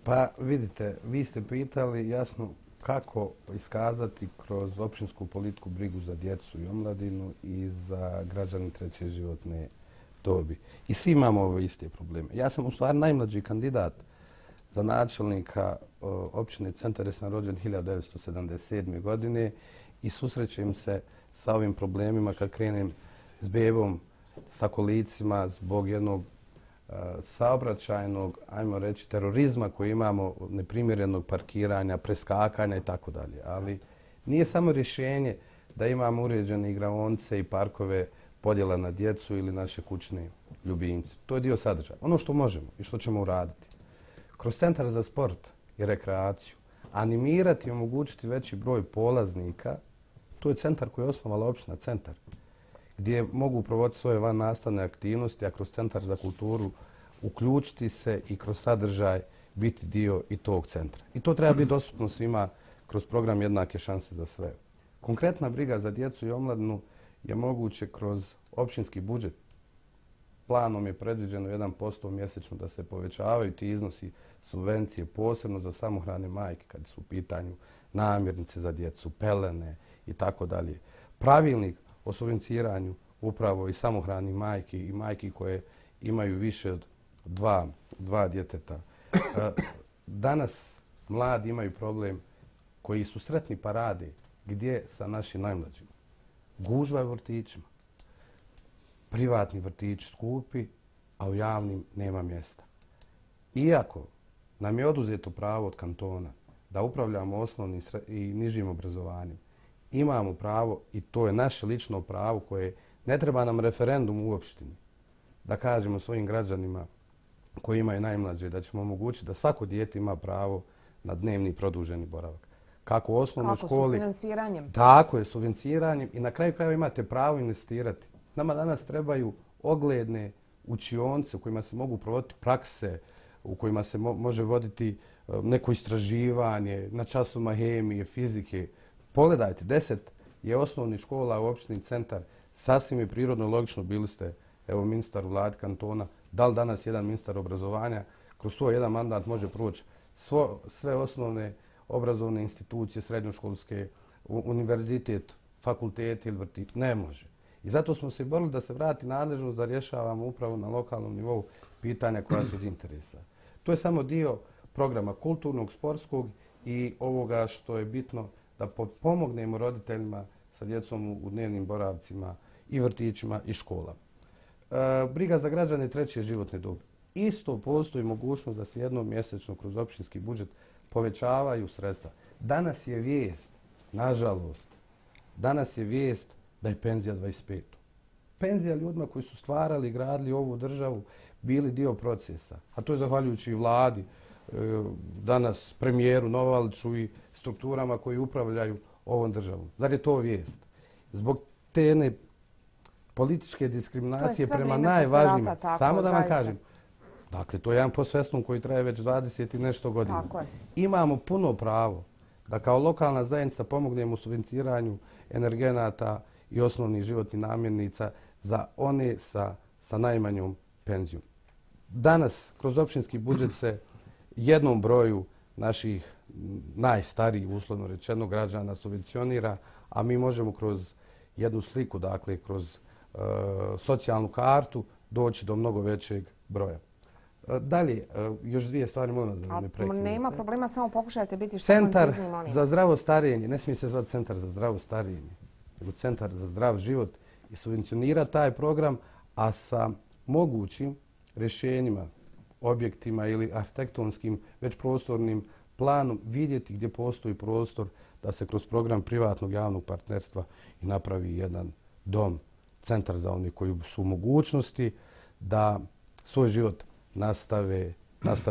Pa vidite, vi ste pitali jasno kako iskazati kroz općinsku politiku brigu za djecu i omladinu i za građane treće životne dobi. I svi imamo ove iste probleme. Ja sam u stvari najmlađi kandidat za načelnika općine Centar, jer sam rođen 1977. godine i susrećem se sa ovim problemima kad krenem s bebom, sa kolicima zbog jednog saobraćajnog, ajmo reći, terorizma koji imamo, neprimjerenog parkiranja, preskakanja i tako dalje. Ali nije samo rješenje da imamo uređene igraonice i parkove podjela na djecu ili naše kućne ljubimce. To je dio sadržaja. Ono što možemo i što ćemo uraditi. Kroz Centar za sport i rekreaciju, animirati i omogućiti veći broj polaznika, to je centar koji je osnovala općina Centar, gdje mogu provoditi svoje vannastavne aktivnosti, a kroz Centar za kulturu uključiti se i kroz sadržaj biti dio i tog centra. I to treba biti dostupno svima kroz program Jednake šanse za sve. Konkretna briga za djecu i omladinu je moguće kroz općinski budžet. Planom je predviđeno 1% mjesečno da se povećavaju ti iznosi subvencije, posebno za samohrane majke, kad su u pitanju namirnice za djecu, pelene i tako dalje. Pravilnik o subvenciranju upravo i samohranih majki i majki koje imaju više od dva djeteta. Danas mladi imaju problem koji su sretni pa rade. Gdje sa našim najmlađima? Gužva u vrtićima. Privatni vrtići skupi, a u javnim nema mjesta. Iako nam je oduzeto pravo od kantona da upravljamo osnovnim i nižim obrazovanjem, imamo pravo, i to je naše lično pravo koje ne treba nam referendum u opštini, da kažemo svojim građanima koji imaju najmlađe da ćemo omogućiti da svako dijete ima pravo na dnevni produženi boravak. Kako u osnovnoj školi... Kako sufinanciranjem? Tako je, sufinanciranjem i na kraju krajeva imate pravo investirati. Nama danas trebaju ogledne učionce u kojima se mogu provoditi prakse, u kojima se može voditi neko istraživanje na časovima hemije, fizike. Pogledajte, 10 je osnovnih škola u opštini Centar. Sasvim je prirodno i logično, bili ste ministar u vladi kantona. Da li danas jedan ministar obrazovanja kroz svoj jedan mandat može proći sve osnovne obrazovne institucije, srednjoškolske, univerzitet, fakultet ili vrtić? Ne može. I zato smo se borili da se vrati nadležnost da rješavamo upravo na lokalnom nivou pitanja koja su od interesa. To je samo dio programa kulturnog, sportskog i ovoga što je bitno da pomognemo roditeljima sa djecom u dnevnim boravcima i vrtićima i školama. Briga za građane treće životne dobi. Isto postoji mogućnost da se jednom mjesečno kroz općinski budžet povećavaju sredstva. Danas je vijest, nažalost, danas je vijest da je penzija 25. Penzija ljudima koji su stvarali i gradili ovu državu bili dio procesa. A to je zahvaljujući i vladi, danas premijeru Novaliću i strukturama koji upravljaju ovom državom. Zar je to vijest? Zbog te jedne političke diskriminacije prema najvažnijima. Samo da vam kažem. Dakle, to je jedan posvestum koji traje već 20 i nešto godina. Imamo puno pravo da kao lokalna zajednica pomognemo u subvenciranju energenata i osnovnih životnih namirnica za one sa najmanjom penzijom. Danas, kroz općinski budžet se jednom broju naših najstarijih, uslovno rečeno, građana subvencionira, a mi možemo kroz jednu sliku, dakle, kroz socijalnu kartu, doći do mnogo većeg broja. Dalje, još dvije stvari molim vas da ne prekinem. Nema problema, samo pokušajte biti što Centar koncizni, molim vas. za zdravo starenje, ne smije se zvati Centar za zdravo starenje, nego Centar za zdrav život i subvencionira taj program, a sa mogućim rješenjima, objektima ili arhitektonskim, već prostornim planom vidjeti gdje postoji prostor da se kroz program privatnog javnog partnerstva i napravi jedan dom, centar za one koji su u mogućnosti da svoj život nastave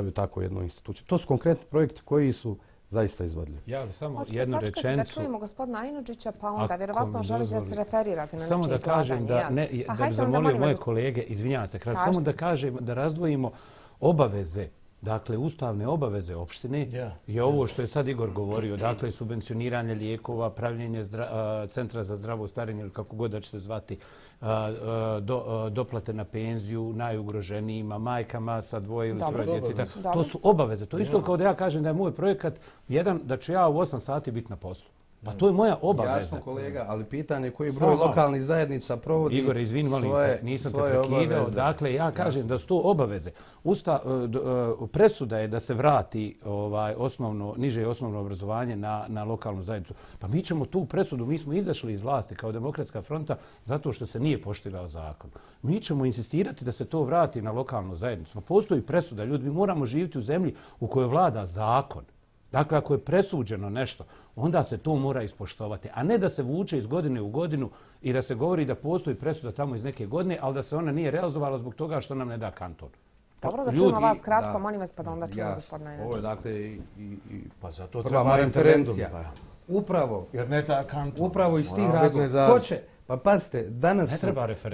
u takvoj jednoj instituciji. To su konkretni projekti koji su zaista izvodljivi. Ja bih samo Hoćete jednu sačekati rečenicu. da čujemo gospodina Ajnudžića, pa onda vjerovatno želite da se referirate na samo nečije da kažem izlaganje. da bi zamolio moje kolege, izvinjavam se, samo da kažem da razdvojimo obaveze, dakle ustavne obaveze opštine je ovo što je sad Igor govorio, dakle subvencioniranje lijekova, pravljenje centra za zdravo starenje ili kako god da će se zvati, doplate na penziju najugroženijima, majkama sa dvoje ili troje djece. To su obaveze. To je isto kao da ja kažem da je moj projekat jedan da ću ja u 8 sati biti na poslu. Pa to je moja obaveza. Jasno kolega, ali pitanje koji broj lokalnih zajednica provodi Igor, izvini, molim te, nisam te prekidao. Dakle, ja kažem da su to obaveze. Presuda je da se vrati niže osnovno obrazovanje na lokalnu zajednicu. Pa mi ćemo tu presudu, mi smo izašli iz vlasti kao Demokratska fronta zato što se nije poštivao zakon. Mi ćemo insistirati da se to vrati na lokalnu zajednicu. Pa postoji presuda, ljudi, mi moramo živjeti u zemlji u kojoj vlada zakon. Dakle, ako je presuđeno nešto, onda se to mora ispoštovati, a ne da se vuče iz godine u godinu i da se govori da postoji presuda tamo iz neke godine, ali da se ona nije realizovala zbog toga što nam ne da kanton. Dobro, da čujemo vas kratko, molim vas, pa da onda čujemo gospodina Ajnudžića. Ovo je dakle i prva moja intervencija. Upravo iz tih razloga. Hoće, pa pazite,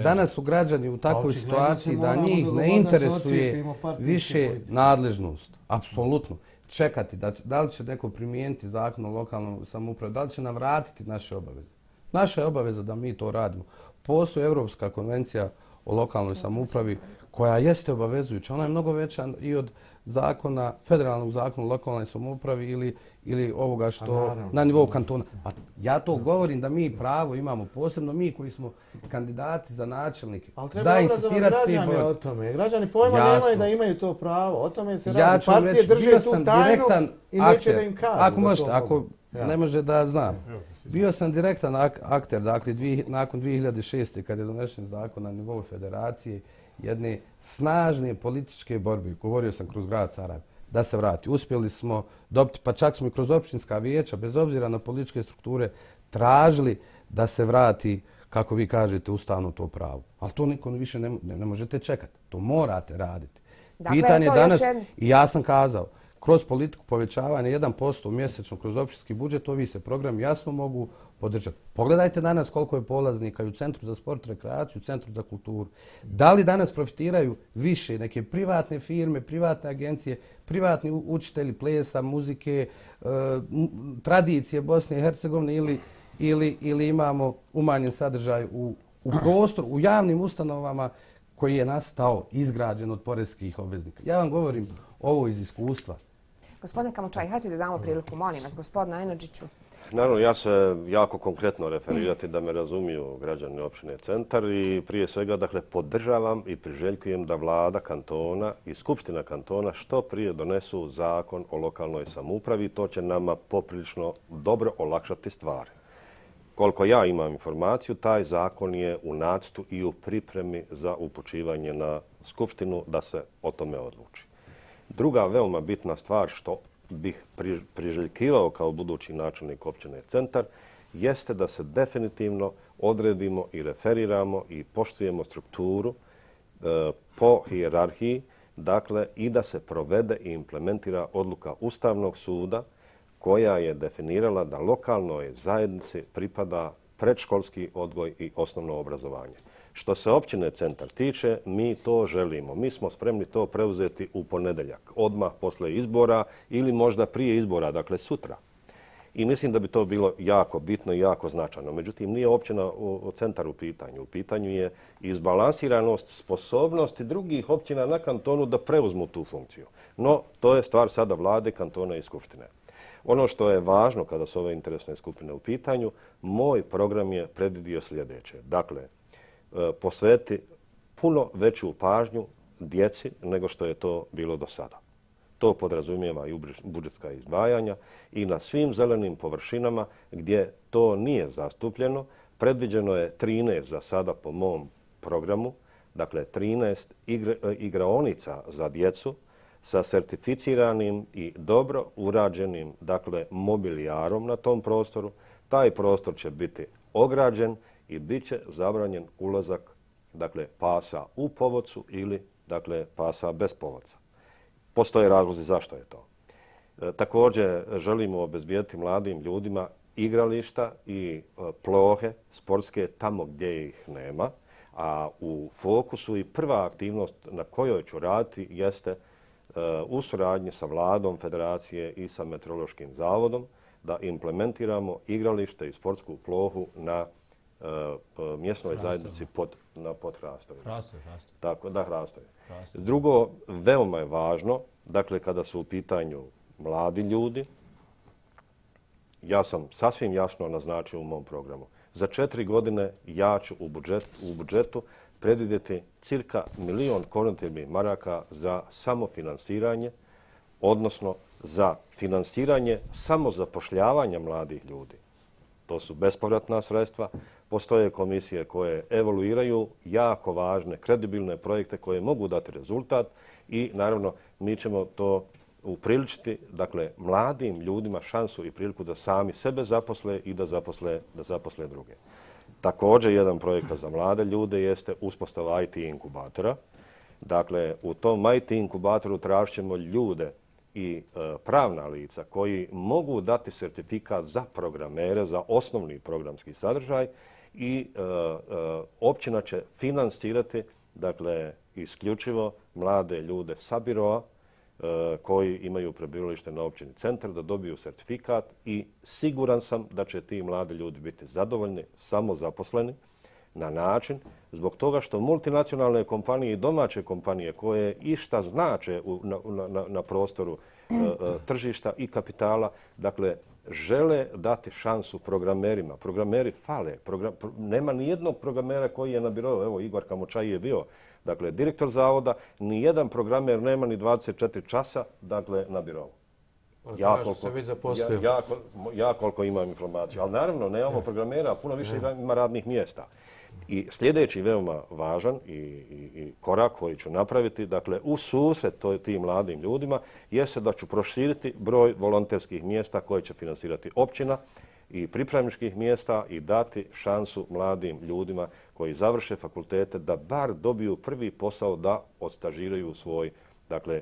danas su građani u takvoj situaciji da njih ne interesuje više nadležnost. Apsolutno. Čekati da li će neko primijeniti zakon o lokalnoj samoupravi, da li će nam vratiti naše obaveze. Naša je obaveza da mi to radimo. Postoji Europska konvencija o lokalnoj samoupravi koja jeste obavezujuća. Ona je mnogo veća i od zakona, federalnog zakona o lokalnoj samoupravi ili ovoga što na nivou kantona. Pa ja to govorim da mi pravo imamo, posebno mi koji smo kandidati za načelnike. Ali treba obrazovati građane o tome. Građani pojma nemaju da imaju to pravo. O tome se radi. Partije drže tu tajnu i neće da im kažu. Ako možete, ako ne može da znam. Bio sam direktan akter, dakle, nakon 2006. kad je donešen zakon na nivou federacije, jedne snažne političke borbe, govorio sam kroz grad Sarajevo, da se vrati. Uspjeli smo dobiti, pa čak smo i kroz općinska vijeća, bez obzira na političke strukture, tražili da se vrati, kako vi kažete, ustavno to pravo. Ali to niko više ne možete čekati. To morate raditi. Pitanje danas, i ja sam kazao, kroz politiku povećavanja 1% mjesečno kroz općinski budžet, ovi se programi jasno mogu podržati. Pogledajte danas koliko je polaznika i u Centru za sport i rekreaciju, u Centru za kulturu. Da li danas profitiraju više neke privatne firme, privatne agencije, privatni učitelji plesa, muzike, tradicije Bosne i Hercegovine ili imamo umanjen sadržaj u prostoru, u javnim ustanovama koji je nastao, izgrađen od poreskih obveznika. Ja vam govorim ovo iz iskustva. Gospodine Kamučaj, hajde da damo priliku, molim vas, gospodina Ajnudžiću. Naravno, ja se jako konkretno referirati da me razumiju građani opštine Centar i prije svega, dakle, podržavam i priželjkujem da vlada kantona i skupština kantona što prije donesu zakon o lokalnoj samoupravi. To će nama poprilično dobro olakšati stvari. Koliko ja imam informaciju, taj zakon je u nacrtu i u pripremi za upućivanje na skupštinu da se o tome odluči. Druga veoma bitna stvar što bih priželjkivao kao budući načelnik općine Centar jeste da se definitivno odredimo i referiramo i poštujemo strukturu po hijerarhiji, dakle i da se provede i implementira odluka Ustavnog suda koja je definirala da lokalnoj zajednici pripada predškolski odgoj i osnovno obrazovanje. Što se općine Centar tiče, mi to želimo. Mi smo spremni to preuzeti u ponedeljak, odmah posle izbora ili možda prije izbora, dakle sutra. I mislim da bi to bilo jako bitno i jako značajno. Međutim, nije općina Centar u pitanju. U pitanju je izbalansiranost sposobnosti drugih općina na kantonu da preuzmu tu funkciju. No, to je stvar sada vlade, kantona i skupštine. Ono što je važno kada su ove interesne skupine u pitanju, moj program je predvidio sljedeće. Dakle, posveti puno veću pažnju djeci nego što je to bilo do sada. To podrazumijeva i budžetska izdvajanja i na svim zelenim površinama gdje to nije zastupljeno. Predviđeno je 13 za sada po mom programu, dakle 13 igraonica za djecu sa certificiranim i dobro urađenim dakle, mobilijarom na tom prostoru. Taj prostor će biti ograđen i bit će zabranjen ulazak dakle, pasa u povodcu ili dakle, pasa bez povodca. Postoje razlozi zašto je to. Također želimo obezbijediti mladim ljudima igrališta i plohe sportske tamo gdje ih nema, a u fokusu i prva aktivnost na kojoj ću raditi jeste u suradnji sa vladom Federacije i sa Meteorološkim zavodom da implementiramo igralište i sportsku plohu na mjesnoj zajednici pod Hrastovima. Tako da, Hrastovima. Drugo, veoma je važno, dakle, kada su u pitanju mladi ljudi, ja sam sasvim jasno naznačio u mom programu. Za 4 godine ja ću u budžetu predvidjeti cirka 1 milion konvertibilnih maraka za samofinansiranje, odnosno za finansiranje samozapošljavanja mladih ljudi. To su bespovratna sredstva. Postoje komisije koje evaluiraju jako važne, kredibilne projekte koje mogu dati rezultat i naravno mi ćemo to upriličiti, dakle, mladim ljudima šansu i priliku da sami sebe zaposle i da zaposle druge. Također, jedan projekat za mlade ljude jeste uspostava IT inkubatora. Dakle, u tom IT inkubatoru tražit ćemo ljude i pravna lica koji mogu dati sertifikat za programere, za osnovni programski sadržaj i općina će finansirati, dakle, isključivo mlade ljude sa biroa koji imaju prebivalište na općini Centar da dobiju sertifikat i siguran sam da će ti mladi ljudi biti zadovoljni, samozaposleni na način zbog toga što multinacionalne kompanije i domaće kompanije koje išta znače na prostoru tržišta i kapitala, dakle, žele dati šansu programerima. Programeri fale. Nema ni jednog programera koji je na birou. Evo, Igor Kamočaj je bio, dakle, direktor zavoda. Ni jedan programer nema ni 24 časa, dakle, na birou. Ja koliko imam informaciju. Ali naravno, nemamo programera, puno više ima radnih mjesta. I sljedeći veoma važan i korak koji ću napraviti, dakle, u susret tim mladim ljudima, jeste da ću proširiti broj volonterskih mjesta koje će finansirati općina i pripravničkih mjesta i dati šansu mladim ljudima koji završe fakultete da bar dobiju prvi posao da odstažiraju svoj, dakle,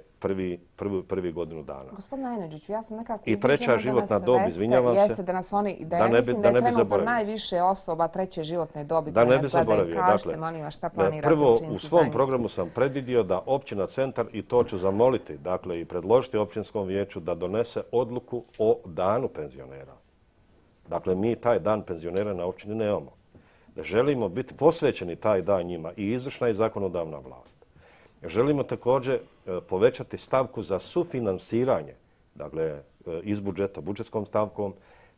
prvi godinu dana. Gospodine Ajnedžiću, ja sam nekako i treća životna dob, izvinjavam se. Jeste da nas oni, da ja mislim da je trenutno najviše osoba treće životne dobi da koje ne nas gledaju. Kažete, molim vas, šta planirate prvo, učiniti za njih? u svom programu sam predvidio da općina Centar, i to ću zamoliti, dakle, i predložiti općinskom vijeću da donese odluku o danu penzionera. Dakle, mi taj dan penzionera na općini nemamo. Želimo biti posvećeni taj dan njima i izvršna i zakonodavna vlast. Želimo također povećati stavku za sufinansiranje, dakle, iz budžeta, budžetskom stavkom,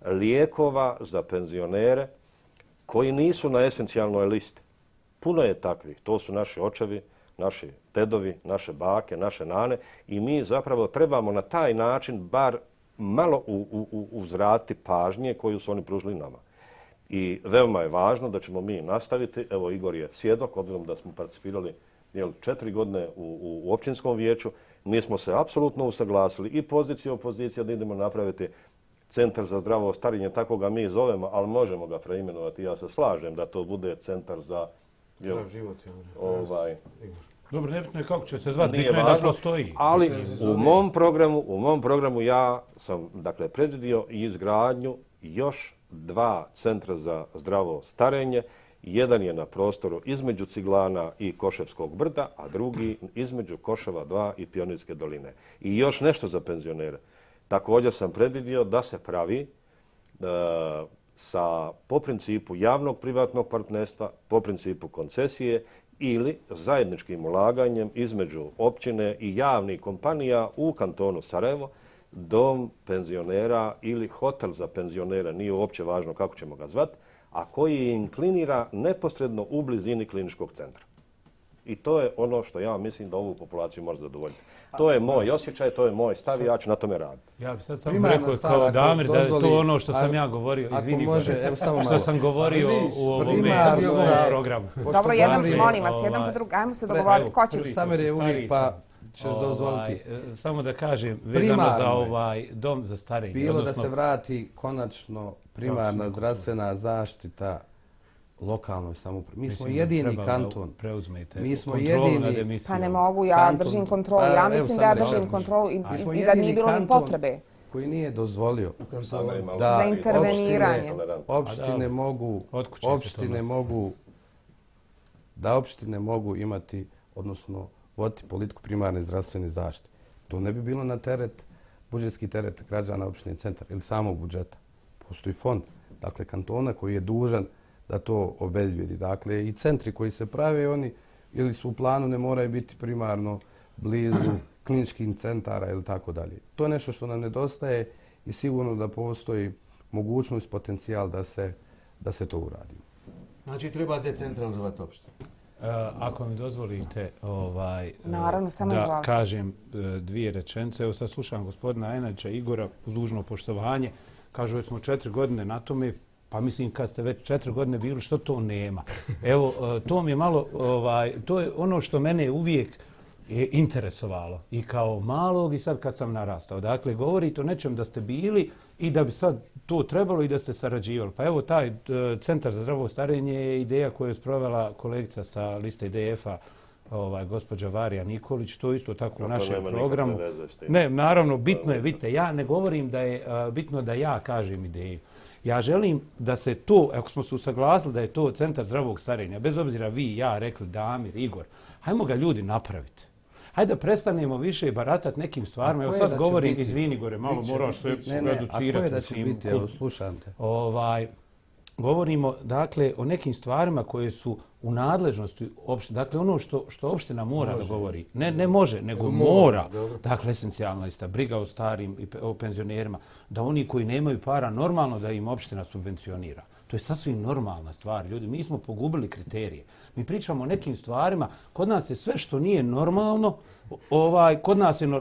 lijekova za penzionere koji nisu na esencijalnoj listi. Puno je takvih. To su naši očevi, naši dedovi, naše bake, naše nane i mi zapravo trebamo na taj način bar malo uzvratiti pažnje koju su oni pružili nama. I veoma je važno da ćemo mi nastaviti. Evo, Igor je svjedok, obzirom da smo participirali 4 godine u općinskom vijeću. Mi smo se apsolutno usaglasili i pozicija i opozicija da idemo napraviti centar za zdravo starenje, tako ga mi zovemo, ali možemo ga preimenovati. Ja se slažem da to bude centar za zdrav život. Dobro, nebitno je kako će se zvati, bitno je da postoji. Ali u mom programu ja sam, dakle, predvidio izgradnju još 2 centra za zdravo starenje. Jedan je na prostoru između Ciglana i Koševskog brda, a drugi između Koševa 2 i Pionirske doline. I još nešto za penzionere. Također sam predvidio da se pravi po principu javnog privatnog partnerstva, po principu koncesije ili zajedničkim ulaganjem između općine i javnih kompanija u kantonu Sarajevo, dom penzionera ili hotel za penzionera, nije uopće važno kako ćemo ga zvati, a koji inklinira neposredno u blizini kliničkog centra. I to je ono što ja mislim da ovu populaciju može zadovoljiti. To je moj osjećaj, to je moj stav i ja ću na tome raditi. Ja bih sad samo rekao kao Damir da je to ono što sam ja govorio, izvini što sam govorio u ovom programu. Dobro, molim vas, jedan po drugom, ajmo se dogovoriti ko će. Samir je uvijek pa ćeš dozvoliti. Samo da kažem, vezano za ovaj dom za starenje. Bilo da se vrati konačno primarna zdravstvena zaštita lokalnoj samoupravi. Mi smo jedini kanton. Mi smo jedini. Pa ne mogu, ja držim kontrolu. Ja mislim da ja držim kontrolu i da nije bilo ni potrebe. Koji nije dozvolio za interveniranje. Opštine mogu imati, odnosno voditi politiku primarne zdravstvene zaštite. To ne bi bilo na teret, budžetski teret građana opštine Centar ili samog budžeta. Postoji fond, dakle, kantona koji je dužan da to obezbijedi. Dakle, i centri koji se prave, oni ili su u planu, ne moraju biti primarno blizu kliničkih centara ili tako dalje. To je nešto što nam nedostaje i sigurno da postoji mogućnost, potencijal da se to uradi. Znači, treba decentralizovati opštine. Ako mi dozvolite da kažem dvije rečenice. Evo sad slušam gospodina Ajnača Igora uz dužno poštovanje. Kažu, smo 4 godine na tome, pa mislim kad ste već 4 godine bili, što to nema? Evo, to mi je malo, to je ono što mene uvijek je interesovalo i kao malog i sad kad sam narastao. Dakle, govorite o nečem da ste bili i da bi sad to trebalo i da ste sarađivali. Pa evo, taj Centar za zdravo starenje je ideja koju je sprovela kolegica sa liste IDF-a, gospođa Varija Nikolić, to isto tako u našem programu. Ne, naravno, bitno je, vidite, ja ne govorim da je bitno da ja kažem ideju. Ja želim da se to, ako smo se usaglasili da je to Centar zdravog starenja, bez obzira vi, ja, rekli Damir, Igor, hajmo ga ljudi napraviti. Hajde da prestanemo više baratati nekim stvarima. Evo sad govorim, izvini Igore, malo moraš sve reducirati. A koje da će biti? Evo, slušam te. Govorimo, dakle, o nekim stvarima koje su u nadležnosti opštine. Dakle, ono što opština mora da govori. Ne može, nego mora. Dakle, esencijalna ista briga o starim i o penzionerima. Da oni koji nemaju para, normalno da im opština subvencionira. To je sasvim normalna stvar. Ljudi, mi smo pogubili kriterije. Mi pričamo o nekim stvarima. Kod nas je sve što nije normalno,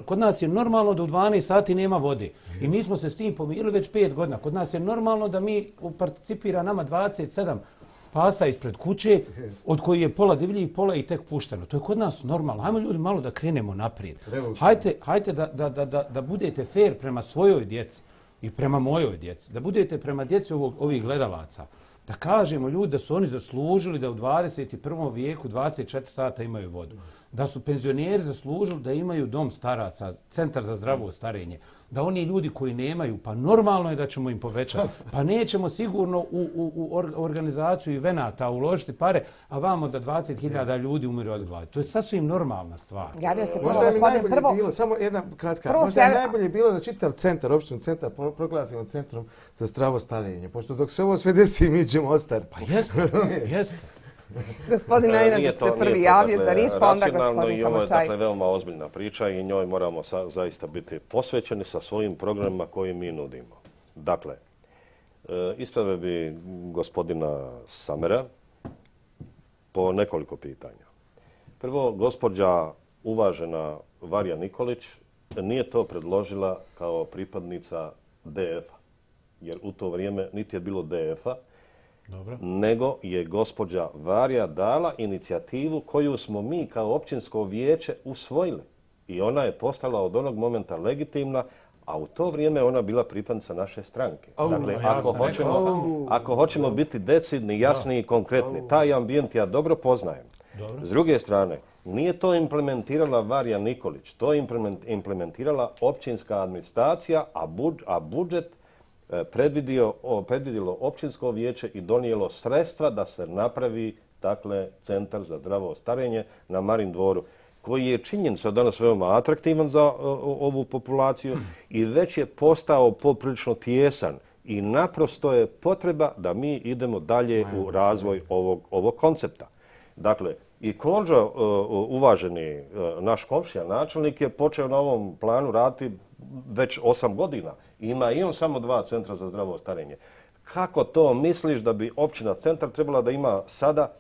kod nas je normalno da u 12 sati nema vode. I mi smo se s tim pomirili već 5 godina. Kod nas je normalno da mi participira nama 27 pasa ispred kuće, od koji je pola divljih, pola i tek pušteno. To je kod nas normalno. Hajmo ljudi malo da krenemo naprijed. Hajte da budete fair prema svojoj djeci i prema mojoj djeci. Da budete prema djeci ovih gledalaca. Da kažemo ljudi da su oni zaslužili da u 21. vijeku 24 sata imaju vodu. Da su penzioneri zaslužili da imaju dom staraca, Centar za zdravo starenje. Da oni ljudi koji nemaju, pa normalno je da ćemo im povećati. Pa nećemo sigurno u organizaciju evenata uložiti pare, a vamo da 20.000 ljudi umiru od gladi. To je sasvim normalna stvar. Javio se prvo gospodin prvo. Samo jedna kratka. Možda je najbolje bilo da čitav centar, opštinu centar, proglasimo centrom za zdravo starenje. Pošto dok se ovo sve desi, mi ćemo ostati. Pa jeste. Gospodin Ajnačić se prvi javio za riječ, pa onda gospodin Kamačaj. Ovo je veoma ozbiljna priča i njoj moramo zaista biti posvećeni sa svojim programima koje mi nudimo. Dakle, ispravio bi gospodina Samera po nekoliko pitanja. Prvo, gospođa uvažena Varija Nikolić nije to predložila kao pripadnica DF-a, jer u to vrijeme niti je bilo DF-a, nego je gospođa Varija dala inicijativu koju smo mi kao općinsko vijeće usvojili. I ona je postala od onog momenta legitimna, a u to vrijeme ona bila pripadnica naše stranke. Dakle, ako hoćemo biti decidni, jasni i konkretni, taj ambijent ja dobro poznajem. S druge strane, nije to implementirala Varija Nikolić, to je implementirala općinska administracija, a budžet predvidjelo općinsko vijeće i donijelo sredstva da se napravi Centar za zdravo starenje na Marin dvoru, koji je činjenica danas veoma atraktivan za ovu populaciju i već je postao poprilično tijesan i naprosto je potreba da mi idemo dalje u razvoj ovog koncepta. Dakle, i Konđo, uvaženi naš komšija, načelnik, je počeo na ovom planu raditi već 8 godina. Ima i on samo 2 centra za zdravo starenje. Kako to misliš da bi općina Centar trebala da ima sada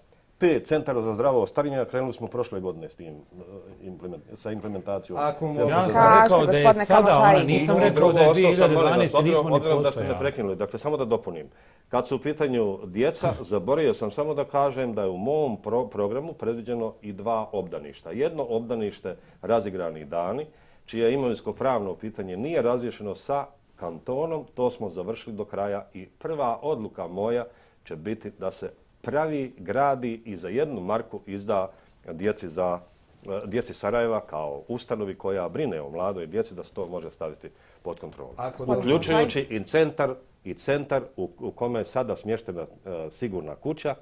5 centara za zdravo starenje, krenuli smo prošle godine s tim, sa implementacijom. Ja sam rekao da je sada, nisam rekao da je 2012. nismo ni postojali. Da ste me postojali. prekinuli, dakle, samo da dopunim. Kad su u pitanju djeca, zaboravio sam samo da kažem da je u mom programu predviđeno i 2 obdaništa. Jedno obdanište Razigrani dani, čije imovinsko-pravno pitanje nije razriješeno sa kantonom, to smo završili do kraja i prva odluka moja će biti da se pravi, gradi i za 1 marku izda djeci Sarajeva kao ustanovi koja brine o mladoj djeci, da se to može staviti pod kontrolu. Uključujući i centar u kome je sada smještena sigurna kuća,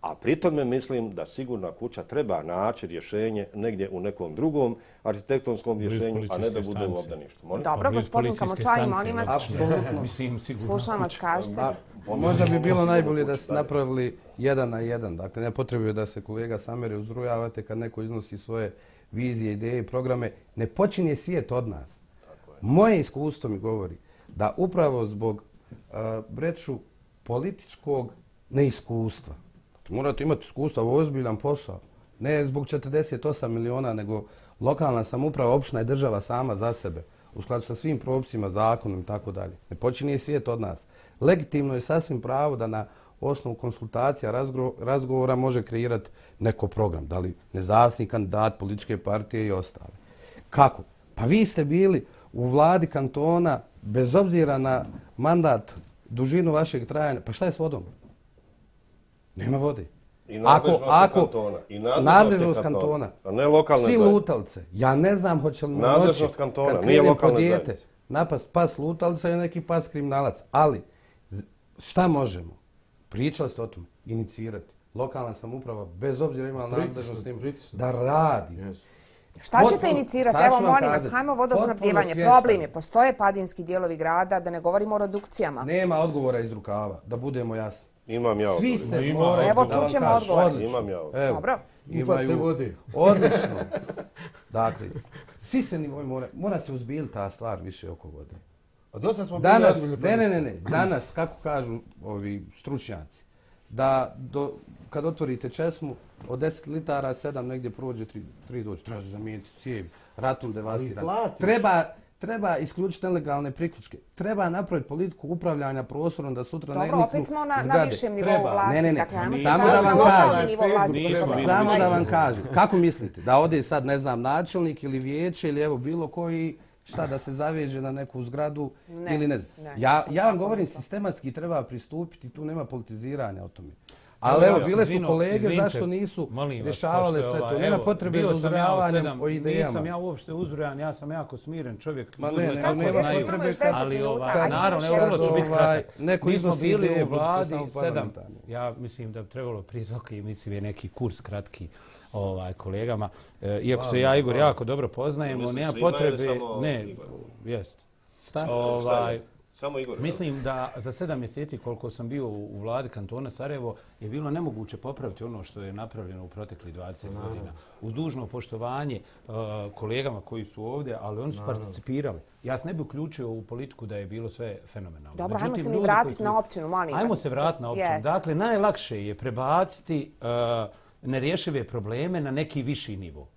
a pritome mislim da sigurna kuća treba naći rješenje negdje u nekom drugom arhitektonskom rješenju, a ne da bude u obdaništu. Dobro, gospodin Kamočaj, molim vas. Slušam vas, kažete. Možda bi bilo najbolje da ste napravili 1 na 1. Dakle, ne potrebuje da se kolega Samere uzrujavate kad neko iznosi svoje vizije, ideje i programe. Ne počinje svijet od nas. Moje iskustvo mi govori da upravo zbog breću političkog neiskustva, morate imati iskustva, ovo je ozbiljan posao. Ne zbog 48 miliona, nego lokalna samouprava, opština i država sama za sebe, u skladu sa svim propisima, zakonom i tako dalje. Ne počinje svijet od nas. Legitimno je sasvim pravo da na osnovu konsultacija, razgovora može kreirati neko program. Da li nezavisni kandidat, političke partije i ostale. Kako? Pa vi ste bili u vladi kantona, bez obzira na mandat, dužinu vašeg trajanja. Pa šta je s vodom? Nema vode. I nadležnost kantona. A ne lokalne zajednice. Svi lutalce. Ja ne znam hoće li na noći kad krene po dijete napast pas lutalca i neki pas kriminalac. Ali šta možemo? Pričali ste o tom. Inicirati. Lokalna samouprava, bez obzira imala nadležnost da radi. Šta ćete inicirati? Evo, molim vas, hajmo vodosnabdjevanje. Problem je, postoje padinski dijelovi grada, da ne govorimo o redukcijama. Nema odgovora iz rukava, da budemo jasni. Imam ja odgovor. Svi se moraju... Evo, čućemo odgovor. Imam ja odgovor. Dobro. Imaju odlično. Dakle, svi se nivoj mora se uzbiljiti ta stvar više oko vode. A dosta smo danas, ne. Danas, kako kažu ovi stručnjaci, da kad otvorite česmu, od 10 litara 7 negdje prođe 3 dođe. Treba se zamijeniti cijevi, ratom devastiran. Treba isključiti nelegalne priključke. Treba napraviti politiku upravljanja prostorom da sutra ne niknu zgrade. Dobro, opet smo na višem nivou vlasti. Ne. Samo da vam kažem. Kako mislite? Da ode sad, ne znam, načelnik ili vijeće ili evo bilo koji, šta da se zaveže na neku zgradu ili ne znam. Ja vam govorim, sistematski treba pristupiti, tu nema politiziranja o tome. Ali evo, bile su kolege, zašto nisu rješavale sve to. Nema potrebe za uzrujavanjem o idejama. Nisam ja uopšte uzrujan, ja sam jako smiren čovjek. Nema potrebe ali naravno, evo, vrlo ću biti kratak. Mi smo bili u vladi 7. Ja mislim da bi trebalo prije toga i mislim je neki kurs kratki kolegama. Iako se ja, Igor, jako dobro poznajemo, nema potrebe... Ne, jest. Šta? Samo Igor. Mislim da za 7 mjeseci koliko sam bio u vladi kantona Sarajevo je bilo nemoguće popraviti ono što je napravljeno u proteklih 20 godina. Uz dužno poštovanje kolegama koji su ovdje, ali oni su participirali. Ja se ne bi uključio u politiku da je bilo sve fenomenalno. Dobro, hajmo se mi vratiti na općinu, molim vas. Hajmo se vratiti na općinu. Dakle, najlakše je prebaciti nerješive probleme na neki viši nivo.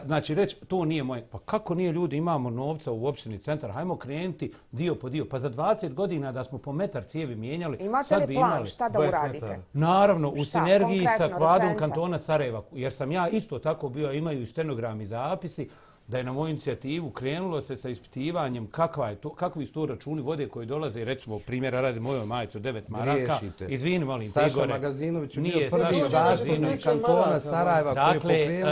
Znači reći, to nije moje. Pa kako nije, ljudi, imamo novca u opštini centar, hajmo krenuti dio po dio. Pa za 20 godina da smo po metar cijevi mijenjali, sad bi imali... Imate li plan šta da uradite? Naravno, u sinergiji sa kvadrom kantona Sarajeva, jer sam ja isto tako bio, imaju i stenogrami zapisi, da je na moju inicijativu krenulo se sa ispitivanjem kakvi su to računi vode koji dolaze, recimo primjera radi mojoj majicu 9 maraka. Izvini, molim te, Igore. Saša Magazinović je bio prvi zastupnik kantona Sarajeva koji je pokrenuo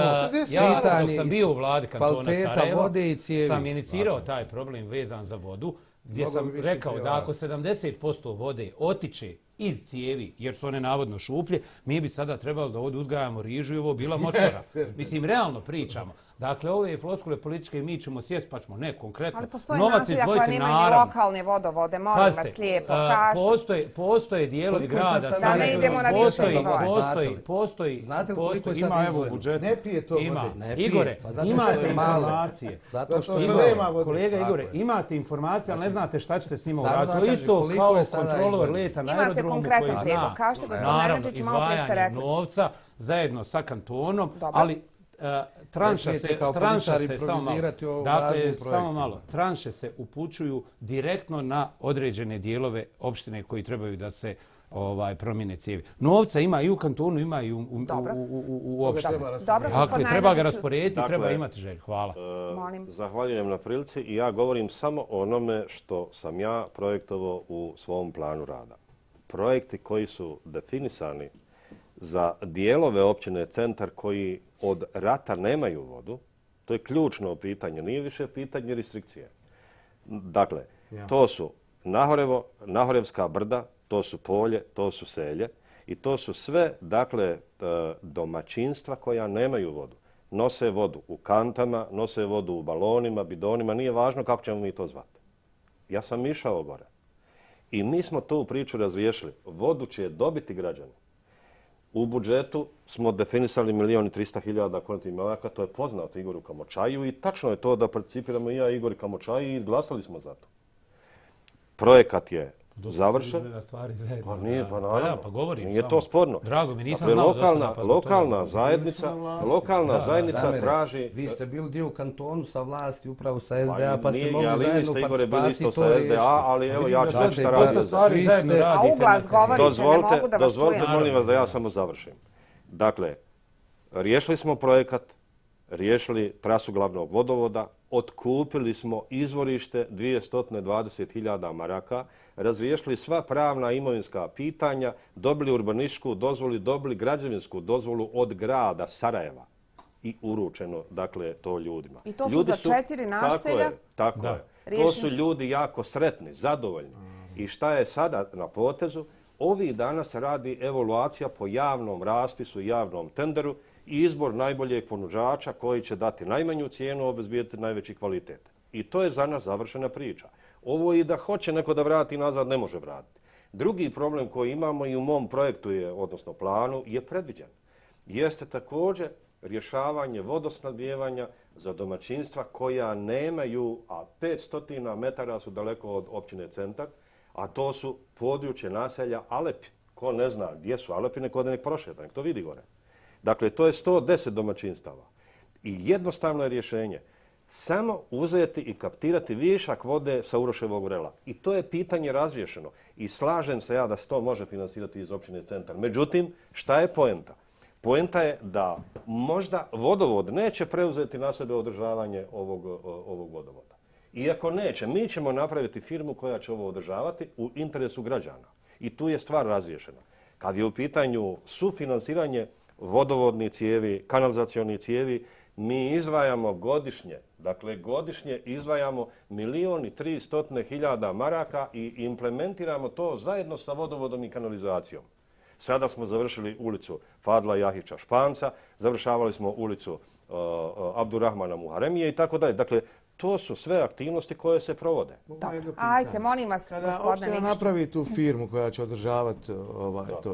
ja dok sam bio u vladi kantona Sarajeva vode i cijevi. Sam inicirao taj problem vezan za vodu, gdje sam rekao da ako 70% vode otiče iz cijevi, jer su one navodno šuplje, mi bi sada trebalo da ovdje uzgajamo rižu i ovo bila močvara. Mislim, realno pričamo. Dakle, ove floskule političke mi ćemo sjest pa ćemo ne konkretno. Ali postoje novac naselja izdvojiti, koja nemaju naravno. lokalne vodovode, molim vas lijepo, kažete. Postoje dijelovi grada. Da ne idemo na više Postoji. Znate li koliko je sad ima evo izdvojeno? budžet. Ne pije to ima. vode. Igore, imate informacije. Zato što nema vode. Kolega Igore, imate informacije, ali ne znate šta ćete s njima uraditi. To je isto kao kontrolor leta na aerodromu koji zna. Kažete, gospodine Naravno, Neđić, malo prije ste rekli. novca zajedno sa kantonom, ali tranša se samo malo. Dakle, samo malo. Tranše se upućuju direktno na određene dijelove opštine koji trebaju da se promjene cijevi. Novca ima i u kantonu, ima i u opštini. Dakle, treba ga rasporediti, treba imati želju. Hvala. Zahvaljujem na prilici i ja govorim samo o onome što sam ja projektovao u svom planu rada. Projekti koji su definisani za dijelove općine Centar koji od rata nemaju vodu, to je ključno pitanje, nije više pitanje restrikcije. Dakle, to su Nahorevska brda, to su polje, to su selje i to su sve, dakle, domaćinstva koja nemaju vodu. Nose vodu u kantama, nose vodu u balonima, bidonima, nije važno kako ćemo mi to zvati. Ja sam išao gore i mi smo tu priču razriješili. Vodu će dobiti građani. U budžetu smo definisali 1.300.000 konetnih maraka, to je poznato Igoru Kamočaju i tačno je to da participiramo i ja i Igor Kamočaji i glasali smo za to. Projekat je završen. Pa nije, pa naravno. Nije to sporno. Drago mi, nisam znao da se napazno. Lokalna zajednica traži... Vi ste bili dio u kantonu sa vlasti, upravo sa SDA, pa ste mogli zajedno participaciji to riješiti. Ali evo ja ću sad šta radim. A uglas govorite, ne mogu da vas čujem. Dozvolite, molim vas da ja samo završim. Dakle, riješili smo projekat, riješili trasu glavnog vodovoda, otkupili smo izvorište 220.000 maraka, razriješili sva pravna imovinska pitanja, dobili urbanističku dozvolu, dobili građevinsku dozvolu od grada Sarajeva i uručeno, dakle, to ljudima. I to su za 4 naselja? Tako je. To su ljudi jako sretni, zadovoljni. I šta je sada na potezu? Ovih dana se radi evaluacija po javnom raspisu, javnom tenderu i izbor najboljeg ponuđača koji će dati najmanju cijenu, obezbijediti najveći kvalitet. I to je za nas završena priča. Ovo i da hoće neko da vrati nazad, ne može vratiti. Drugi problem koji imamo i u mom projektu, odnosno planu, je predviđen. Jeste također rješavanje vodosnabdijevanja za domaćinstva koja nemaju, a 500 metara su daleko od općine Centar, a to su područje naselja Alepi. Ko ne zna gdje su Alepi, neko da nek prošeta, nek to vidi gore. Dakle, to je 110 domaćinstava. I jednostavno je rješenje samo uzeti i kaptirati višak vode sa Uroševog vrela. I to je pitanje razriješeno. I slažem se ja da se to može finansirati iz općine Centar. Međutim, šta je poenta? Poenta je da možda vodovod neće preuzeti na sebe održavanje ovog vodovoda. Iako neće, mi ćemo napraviti firmu koja će ovo održavati u interesu građana. I tu je stvar razriješena. Kad je u pitanju sufinansiranje vodovodnih cijevi, kanalizacionih cijevi, mi izdvajamo godišnje, dakle godišnje izdvajamo 1.300.000 maraka i implementiramo to zajedno sa vodovodom i kanalizacijom. Sada smo završili ulicu Fadla Jahića Španca, završavali smo ulicu Abdurrahmana Muharemije i tako dalje. Dakle, to su sve aktivnosti koje se provode. Ajte, molim vas, gospodine Opština napravi tu firmu koja će održavati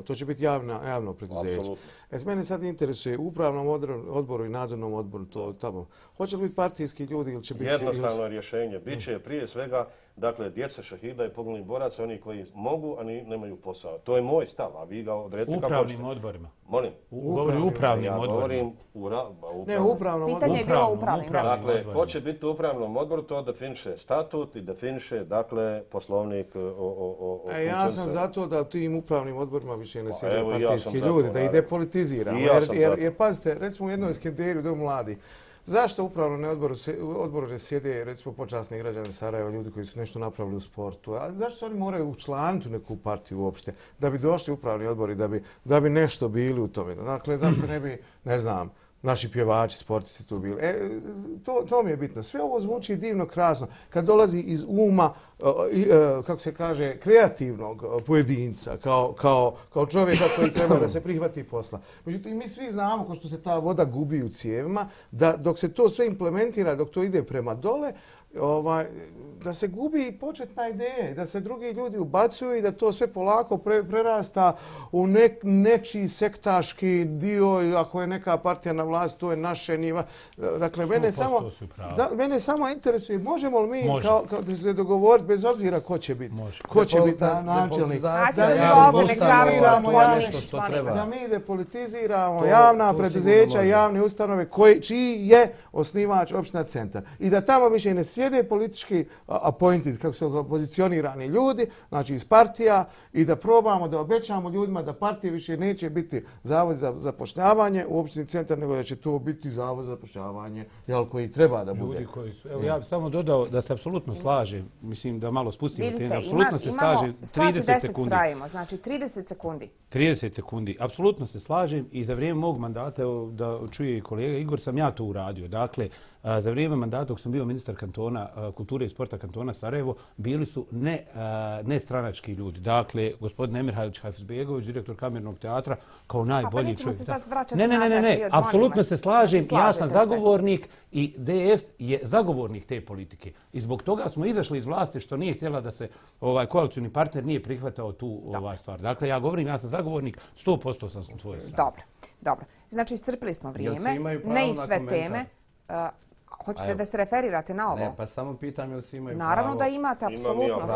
to će biti javno preduzeće. Mene sad interesuje u upravnom odboru i nadzornom odboru to tamo. Hoće li biti partijski ljudi ili će biti... Jednostavno rješenje. Biće prije svega, dakle, djeca šahida i poginulih boraca, oni koji mogu, a nemaju posao. To je moj stav, a vi ga odredite kako hoćete. Upravnim odborima. Molim? Govori upravnim odborima. Ne, upravnom odboru. Pitanje je bilo upravnim. Dakle, ko će biti u upravnom odboru, to definiše statut i definiše, dakle, poslovnik o ja sam zato da u tim upravnim odborima više ne sjede partijski ljudi, da ide politiziramo. Jer pazite, recimo u jednoj Skenderiju, Dom mladi, zašto upravno odboru ne sjede, recimo, počasni građani Sarajeva, ljudi koji su nešto napravili u sportu? A zašto oni moraju učlaniti neku partiju uopšte da bi došli upravni odbori, da bi nešto bili u tome? Dakle, zašto ne bi, ne znam, naši pjevači, sportisti tu bili. To mi je bitno. Sve ovo zvuči divno, krasno. Kad dolazi iz uma, kako se kaže, kreativnog pojedinca, kao čovjeka koji treba da se prihvati posla. Međutim, mi svi znamo, ko što se ta voda gubi u cijevima, da dok se to sve implementira, dok to ide prema dole, da se gubi početna ideja, da se drugi ljudi ubacuju i da to sve polako prerasta u nečiji sektaški dio, ako je neka partija na vlast, to je naše niva. Dakle, mene samo interesuje, možemo li mi da se dogovoriti bez obzira ko će biti? Ko će biti načelnik? Da mi depolitiziramo javna preduzeća, javne ustanove, čiji je osnivač opština Centar. I da tamo više ne sjede politički appointed, kako su pozicionirani ljudi, znači iz partija, i da probamo da obećamo ljudima da partije više neće biti zavod za zapošljavanje u opštini Centar, nego da će to biti zavod za zapošljavanje koji treba da bude. Ljudi koji su, evo ja bih samo dodao da se apsolutno slažem, mislim da malo spustimo temu, apsolutno se slažem, 30 sekundi. Znači 30 sekundi. 30 sekundi, apsolutno se slažem i za vrijeme mog mandata, da čuje i kolega Igor, sam ja to uradio. Dakle, za vrijeme mandata dok sam bio ministar kantona kulture i sporta kantona Sarajevo, bili su nestranački ljudi. Dakle, gospodin Emir Hafizbegović, direktor Kamernog teatra, kao najbolji čovjek. Ne, apsolutno se slažem. Ja sam zagovornik i DF je zagovornik te politike. I zbog toga smo izašli iz vlasti što nije htjela da se koalicijni partner nije prihvatao tu stvar. Dakle, ja govorim, ja sam zagovornik, 100% sam u tvojoj strani. Dobro. Znači, iscrpili smo vrijeme, ne i sve teme. Hoćete da se referirate na ovo? Ne, pa samo pitam jel svi imaju pravo. Naravno da imate, apsolutno.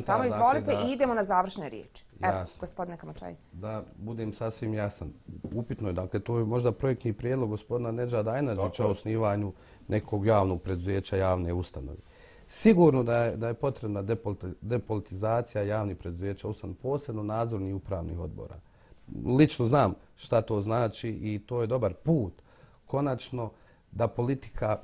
Samo izvolite i idemo na završne riječi. Evo, gospodine Kamačaj. Da budem sasvim jasan. Upitno je, dakle, to je možda projektni prijedlog gospodina Nedžada Ajnadžića o osnivanju nekog javnog preduzeća, javne ustanove. Sigurno da je potrebna depolitizacija javnih preduzeća, posebno nadzornih i upravnih odbora. Lično znam šta to znači i to je dobar put. Konačno, da politika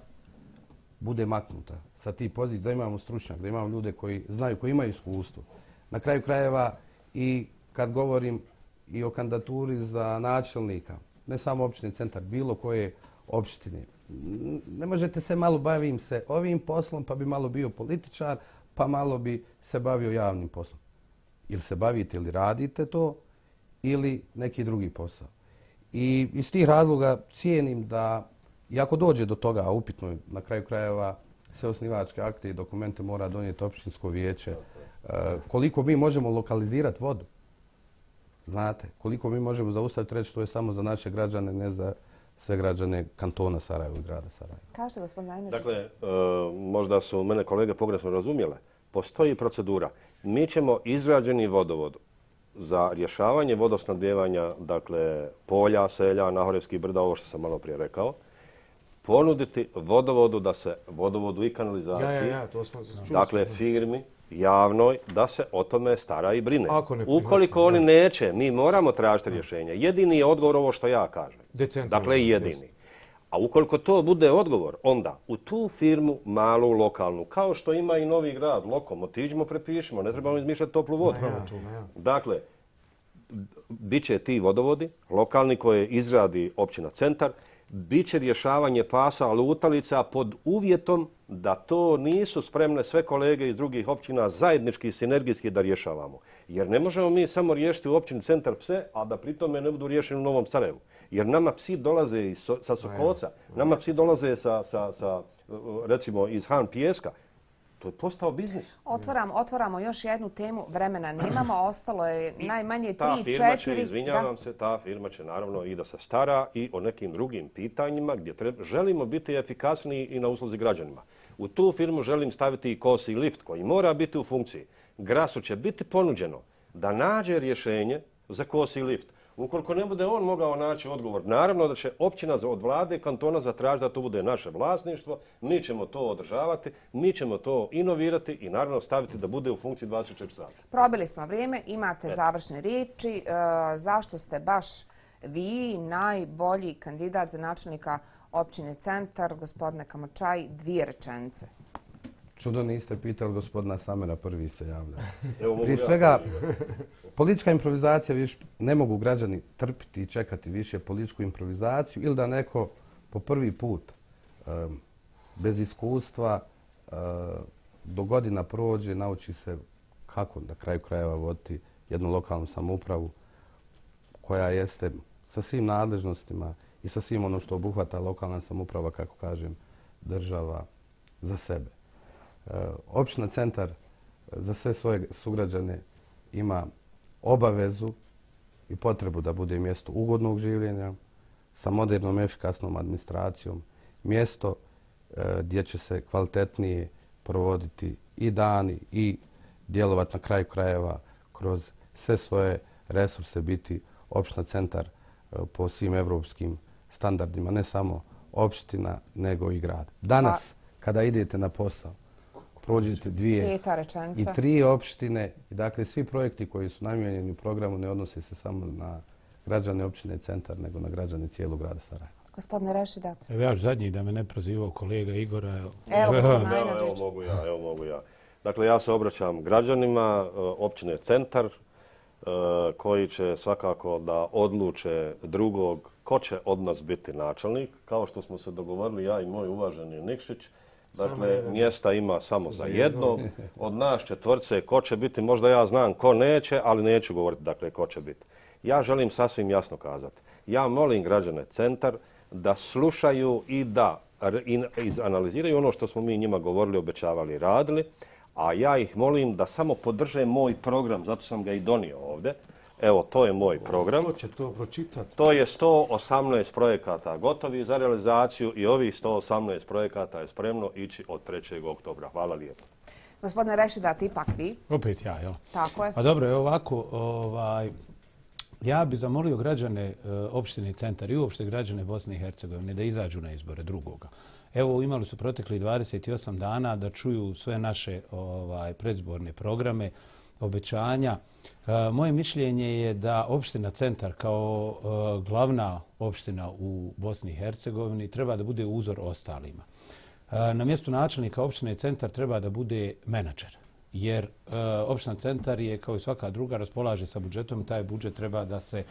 bude maknuta sa tih pozicija, da imamo stručnjak, da imamo ljude koji znaju, koji imaju iskustvo. Na kraju krajeva i kad govorim i o kandidaturi za načelnika, ne samo opštine Centar, bilo koje opštine, ne možete se malo bavim se ovim poslom, pa bi malo bio političar, pa malo bi se bavio javnim poslom. Ili se bavite ili radite to, ili neki drugi posao. I iz tih razloga cijenim da i ako dođe do toga, a upitno je na kraju krajeva sve osnivačke akte i dokumente mora donijeti opštinsko vijeće, koliko mi možemo lokalizirati vodu. Znate, koliko mi možemo zaustaviti, reći to je samo za naše građane, ne za sve građane kantona Sarajevo i grada Sarajevo. Kažete, gospodin Ajnadžić. Dakle, možda su mene kolege pogrešno razumjele. Postoji procedura. Mi ćemo izrađeni vodovod za rješavanje vodosnabdijevanja, dakle, polja, selja, Nahorevskih brda, ovo što sam malo prije rekao, ponuditi vodovodu da se vodovodu i kanalizaciji, dakle firmi javnoj, da se o tome stara i brine. Ukoliko oni neće, mi moramo tražiti rješenje. Jedini je odgovor ovo što ja kažem. Dakle, jedini. A ukoliko to bude odgovor, onda u tu firmu, malu, lokalnu, kao što ima i Novi Grad, Lokom, otiđimo, prepišimo, ne trebamo izmišljati toplu vodu. Dakle, bit će ti vodovodi, lokalni koje izradi općina Centar, bit će rješavanje pasa lutalica pod uvjetom da to nisu spremne sve kolege iz drugih općina zajednički i sinergijski da rješavamo. Jer ne možemo mi samo riješiti u općini Centar pse, a da pritome ne budu riješeni u Novom Sarajevu. Jer nama psi dolaze sa Sokolca, nama psi dolaze recimo iz Han Pijeska. To je postao biznis. Otvaramo još jednu temu, vremena nemamo, ostalo je najmanje 3-4. Ta firma će, izvinjavam se, ta firma će naravno i da se stara i o nekim drugim pitanjima gdje želimo biti efikasniji i na usluzi građanima. U tu firmu želim staviti i kosi lift koji mora biti u funkciji. Grasu će biti ponuđeno da nađe rješenje za kosi lift. Ukoliko ne bude on mogao naći odgovor, naravno da će općina od vlade kantona zatražiti da to bude naše vlasništvo, mi ćemo to održavati, mi ćemo to inovirati i naravno staviti da bude u funkciji 24 sata. Probili smo vrijeme, imate završne riječi. Zašto ste baš vi najbolji kandidat za načelnika općine Centar, gospodine Kamačaj, 2 rečenice? Čudo niste pitali gospodina Samera, prvi se javlja. Prije svega, politička improvizacija, ne mogu građani trpiti i čekati više političku improvizaciju ili da neko po prvi put bez iskustva do godina prođe, nauči se kako na kraju krajeva voditi jednu lokalnu samoupravu koja jeste sa svim nadležnostima i sa svim ono što obuhvata lokalna samouprava, kako kažem, država za sebe. Opština Centar za sve svoje sugrađane ima obavezu i potrebu da bude mjesto ugodnog življenja sa modernom, efikasnom administracijom, mjesto gdje će se kvalitetnije provoditi i dani i djelovati na kraju krajeva kroz sve svoje resurse, biti opština Centar po svim evropskim standardima, ne samo opština, nego i grad. Danas, kada idete na posao, prođete 2 i 3 opštine i dakle svi projekti koji su namijenjeni u programu ne odnose se samo na građane opštine Centar, nego na građane cijelog grada Sarajeva. Gospodine Rešidat. Evo ja ću zadnji da me ne prozivao kolega Igora. Evo, gospodin Ajnađić. Evo mogu ja. Dakle, ja se obraćam građanima općine Centar koji će svakako da odluče drugog ko će od nas biti načelnik. Kao što smo se dogovorili ja i moj uvaženi Nikšić, dakle, mjesta ima samo za jednog. Od nas četvrtce ko će biti, možda ja znam ko neće, ali neću govoriti dakle ko će biti. Ja želim sasvim jasno kazati. Ja molim građane Centar da slušaju i da izanaliziraju ono što smo mi njima govorili, obećavali i radili, a ja ih molim da samo podrže moj program, zato sam ga i donio ovdje. Evo, to je moj program. Ko će to pročitati? To je 118 projekata gotovi za realizaciju i ovih 118 projekata je spremno ići od 3. oktobra. Hvala lijepo. Gospodine Rešidat, ipak vi. Opet ja, jel? Tako je. A dobro, je ovako, ja bih zamolio građane opštine Centar i uopšte građane Bosne i Hercegovine da izađu na izbore drugoga. Evo, imali su protekli 28 dana da čuju sve naše predzborne programe, obećanja. Moje mišljenje je da opština Centar kao glavna opština u Bosni i Hercegovini treba da bude uzor ostalima. Na mjestu načelnika opštine Centar treba da bude menadžer, jer opština Centar je kao i svaka druga raspolaže sa budžetom i taj budžet treba da se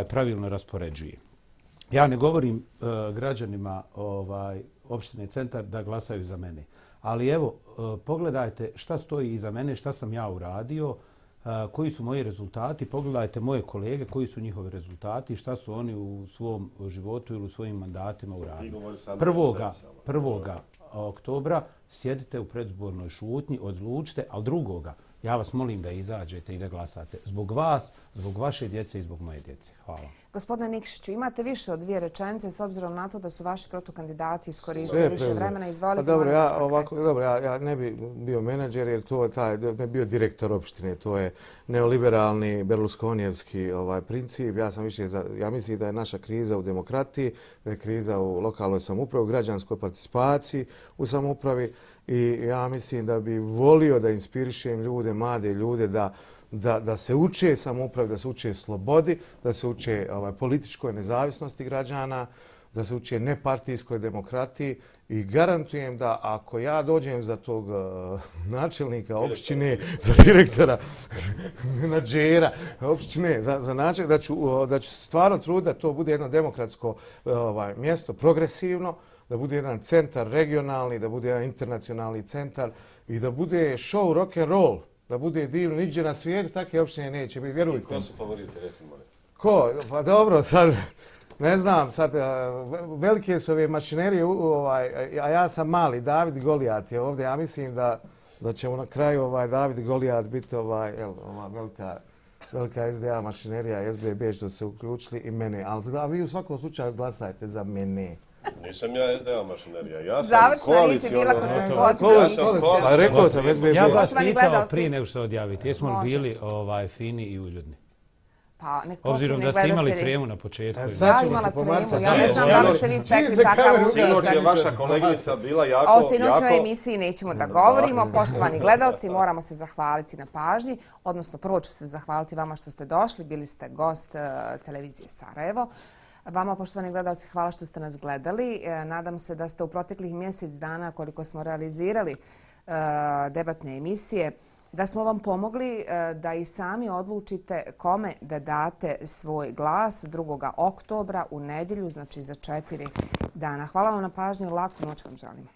pravilno raspoređuje. Ja ne govorim građanima opštine Centar da glasaju za mene. Ali evo, pogledajte šta stoji iza mene, šta sam ja uradio, koji su moji rezultati, pogledajte moje kolege, koji su njihovi rezultati, šta su oni u svom životu ili u svojim mandatima uradili. 1. oktobra sjedite u predzbornoj šutnji, odlučite, ali 2. ja vas molim da izađete i da glasate. Zbog vas, zbog vaše djece i zbog moje djece. Hvala. Gospodine Nikšiću, imate više od 2 rečenice s obzirom na to da su vaši protukandidati iskoristili više vremena. Izvolite. Dobro, ja ne bi bio menadžer jer to ne bio direktor opštine. To je neoliberalni berlusconijevski princip. Ja mislim da je naša kriza u demokratiji, da je kriza u lokalnoj samoupravi, u građanskoj participaciji u samoupravi i ja mislim da bi volio da inspirišem ljude, mlade ljude da se uče samoupravi, da se uče slobodi, da se uče političkoj nezavisnosti građana, da se uče nepartijskoj demokratiji i garantujem da ako ja dođem za tog načelnika opštine, za direktora, menadžera opštine, za načelnika, da ću stvarno truditi da to bude jedno demokratsko mjesto, progresivno, da bude jedan centar regionalni, da bude jedan internacionalni centar i da bude show rock and roll, da bude divno, niđe na svijetu, takve opštine neće biti, vjerujte. Ko su favoriti, recimo? Ko? Pa dobro, sad, ne znam, sad, velike su ove mašinerije, a ja sam mali, David Golijat je ovdje, ja mislim da ćemo na kraju David Golijat biti velika SDA mašinerija, SBB što se uključili i mene, ali vi u svakom slučaju glasajte za mene. Nisam ja SDA mašinerija, ja sam završna riječ je bila kod gospodina. Rekao sam SBB. Ja vas pitao prije nego što odjavite, jesmo li bili fini i uljudni? Obzirom da ste imali tremu na početku. Ja imala tremu, ja ne znam da li ste vi stekli takav utisak. Sinoć je vaša kolegica bila jako... O sinoćoj emisiji nećemo da govorimo. Poštovani gledalci, moramo se zahvaliti na pažnji. Odnosno, prvo ću se zahvaliti vama što ste došli. Bili ste gost televizije Sarajevo. Vama, poštovani gledalci, hvala što ste nas gledali. Nadam se da ste u proteklih mjesec dana, koliko smo realizirali debatne emisije, da smo vam pomogli da i sami odlučite kome da date svoj glas 2. oktobra u nedjelju, znači za 4 dana. Hvala vam na pažnju, laku noć vam želimo.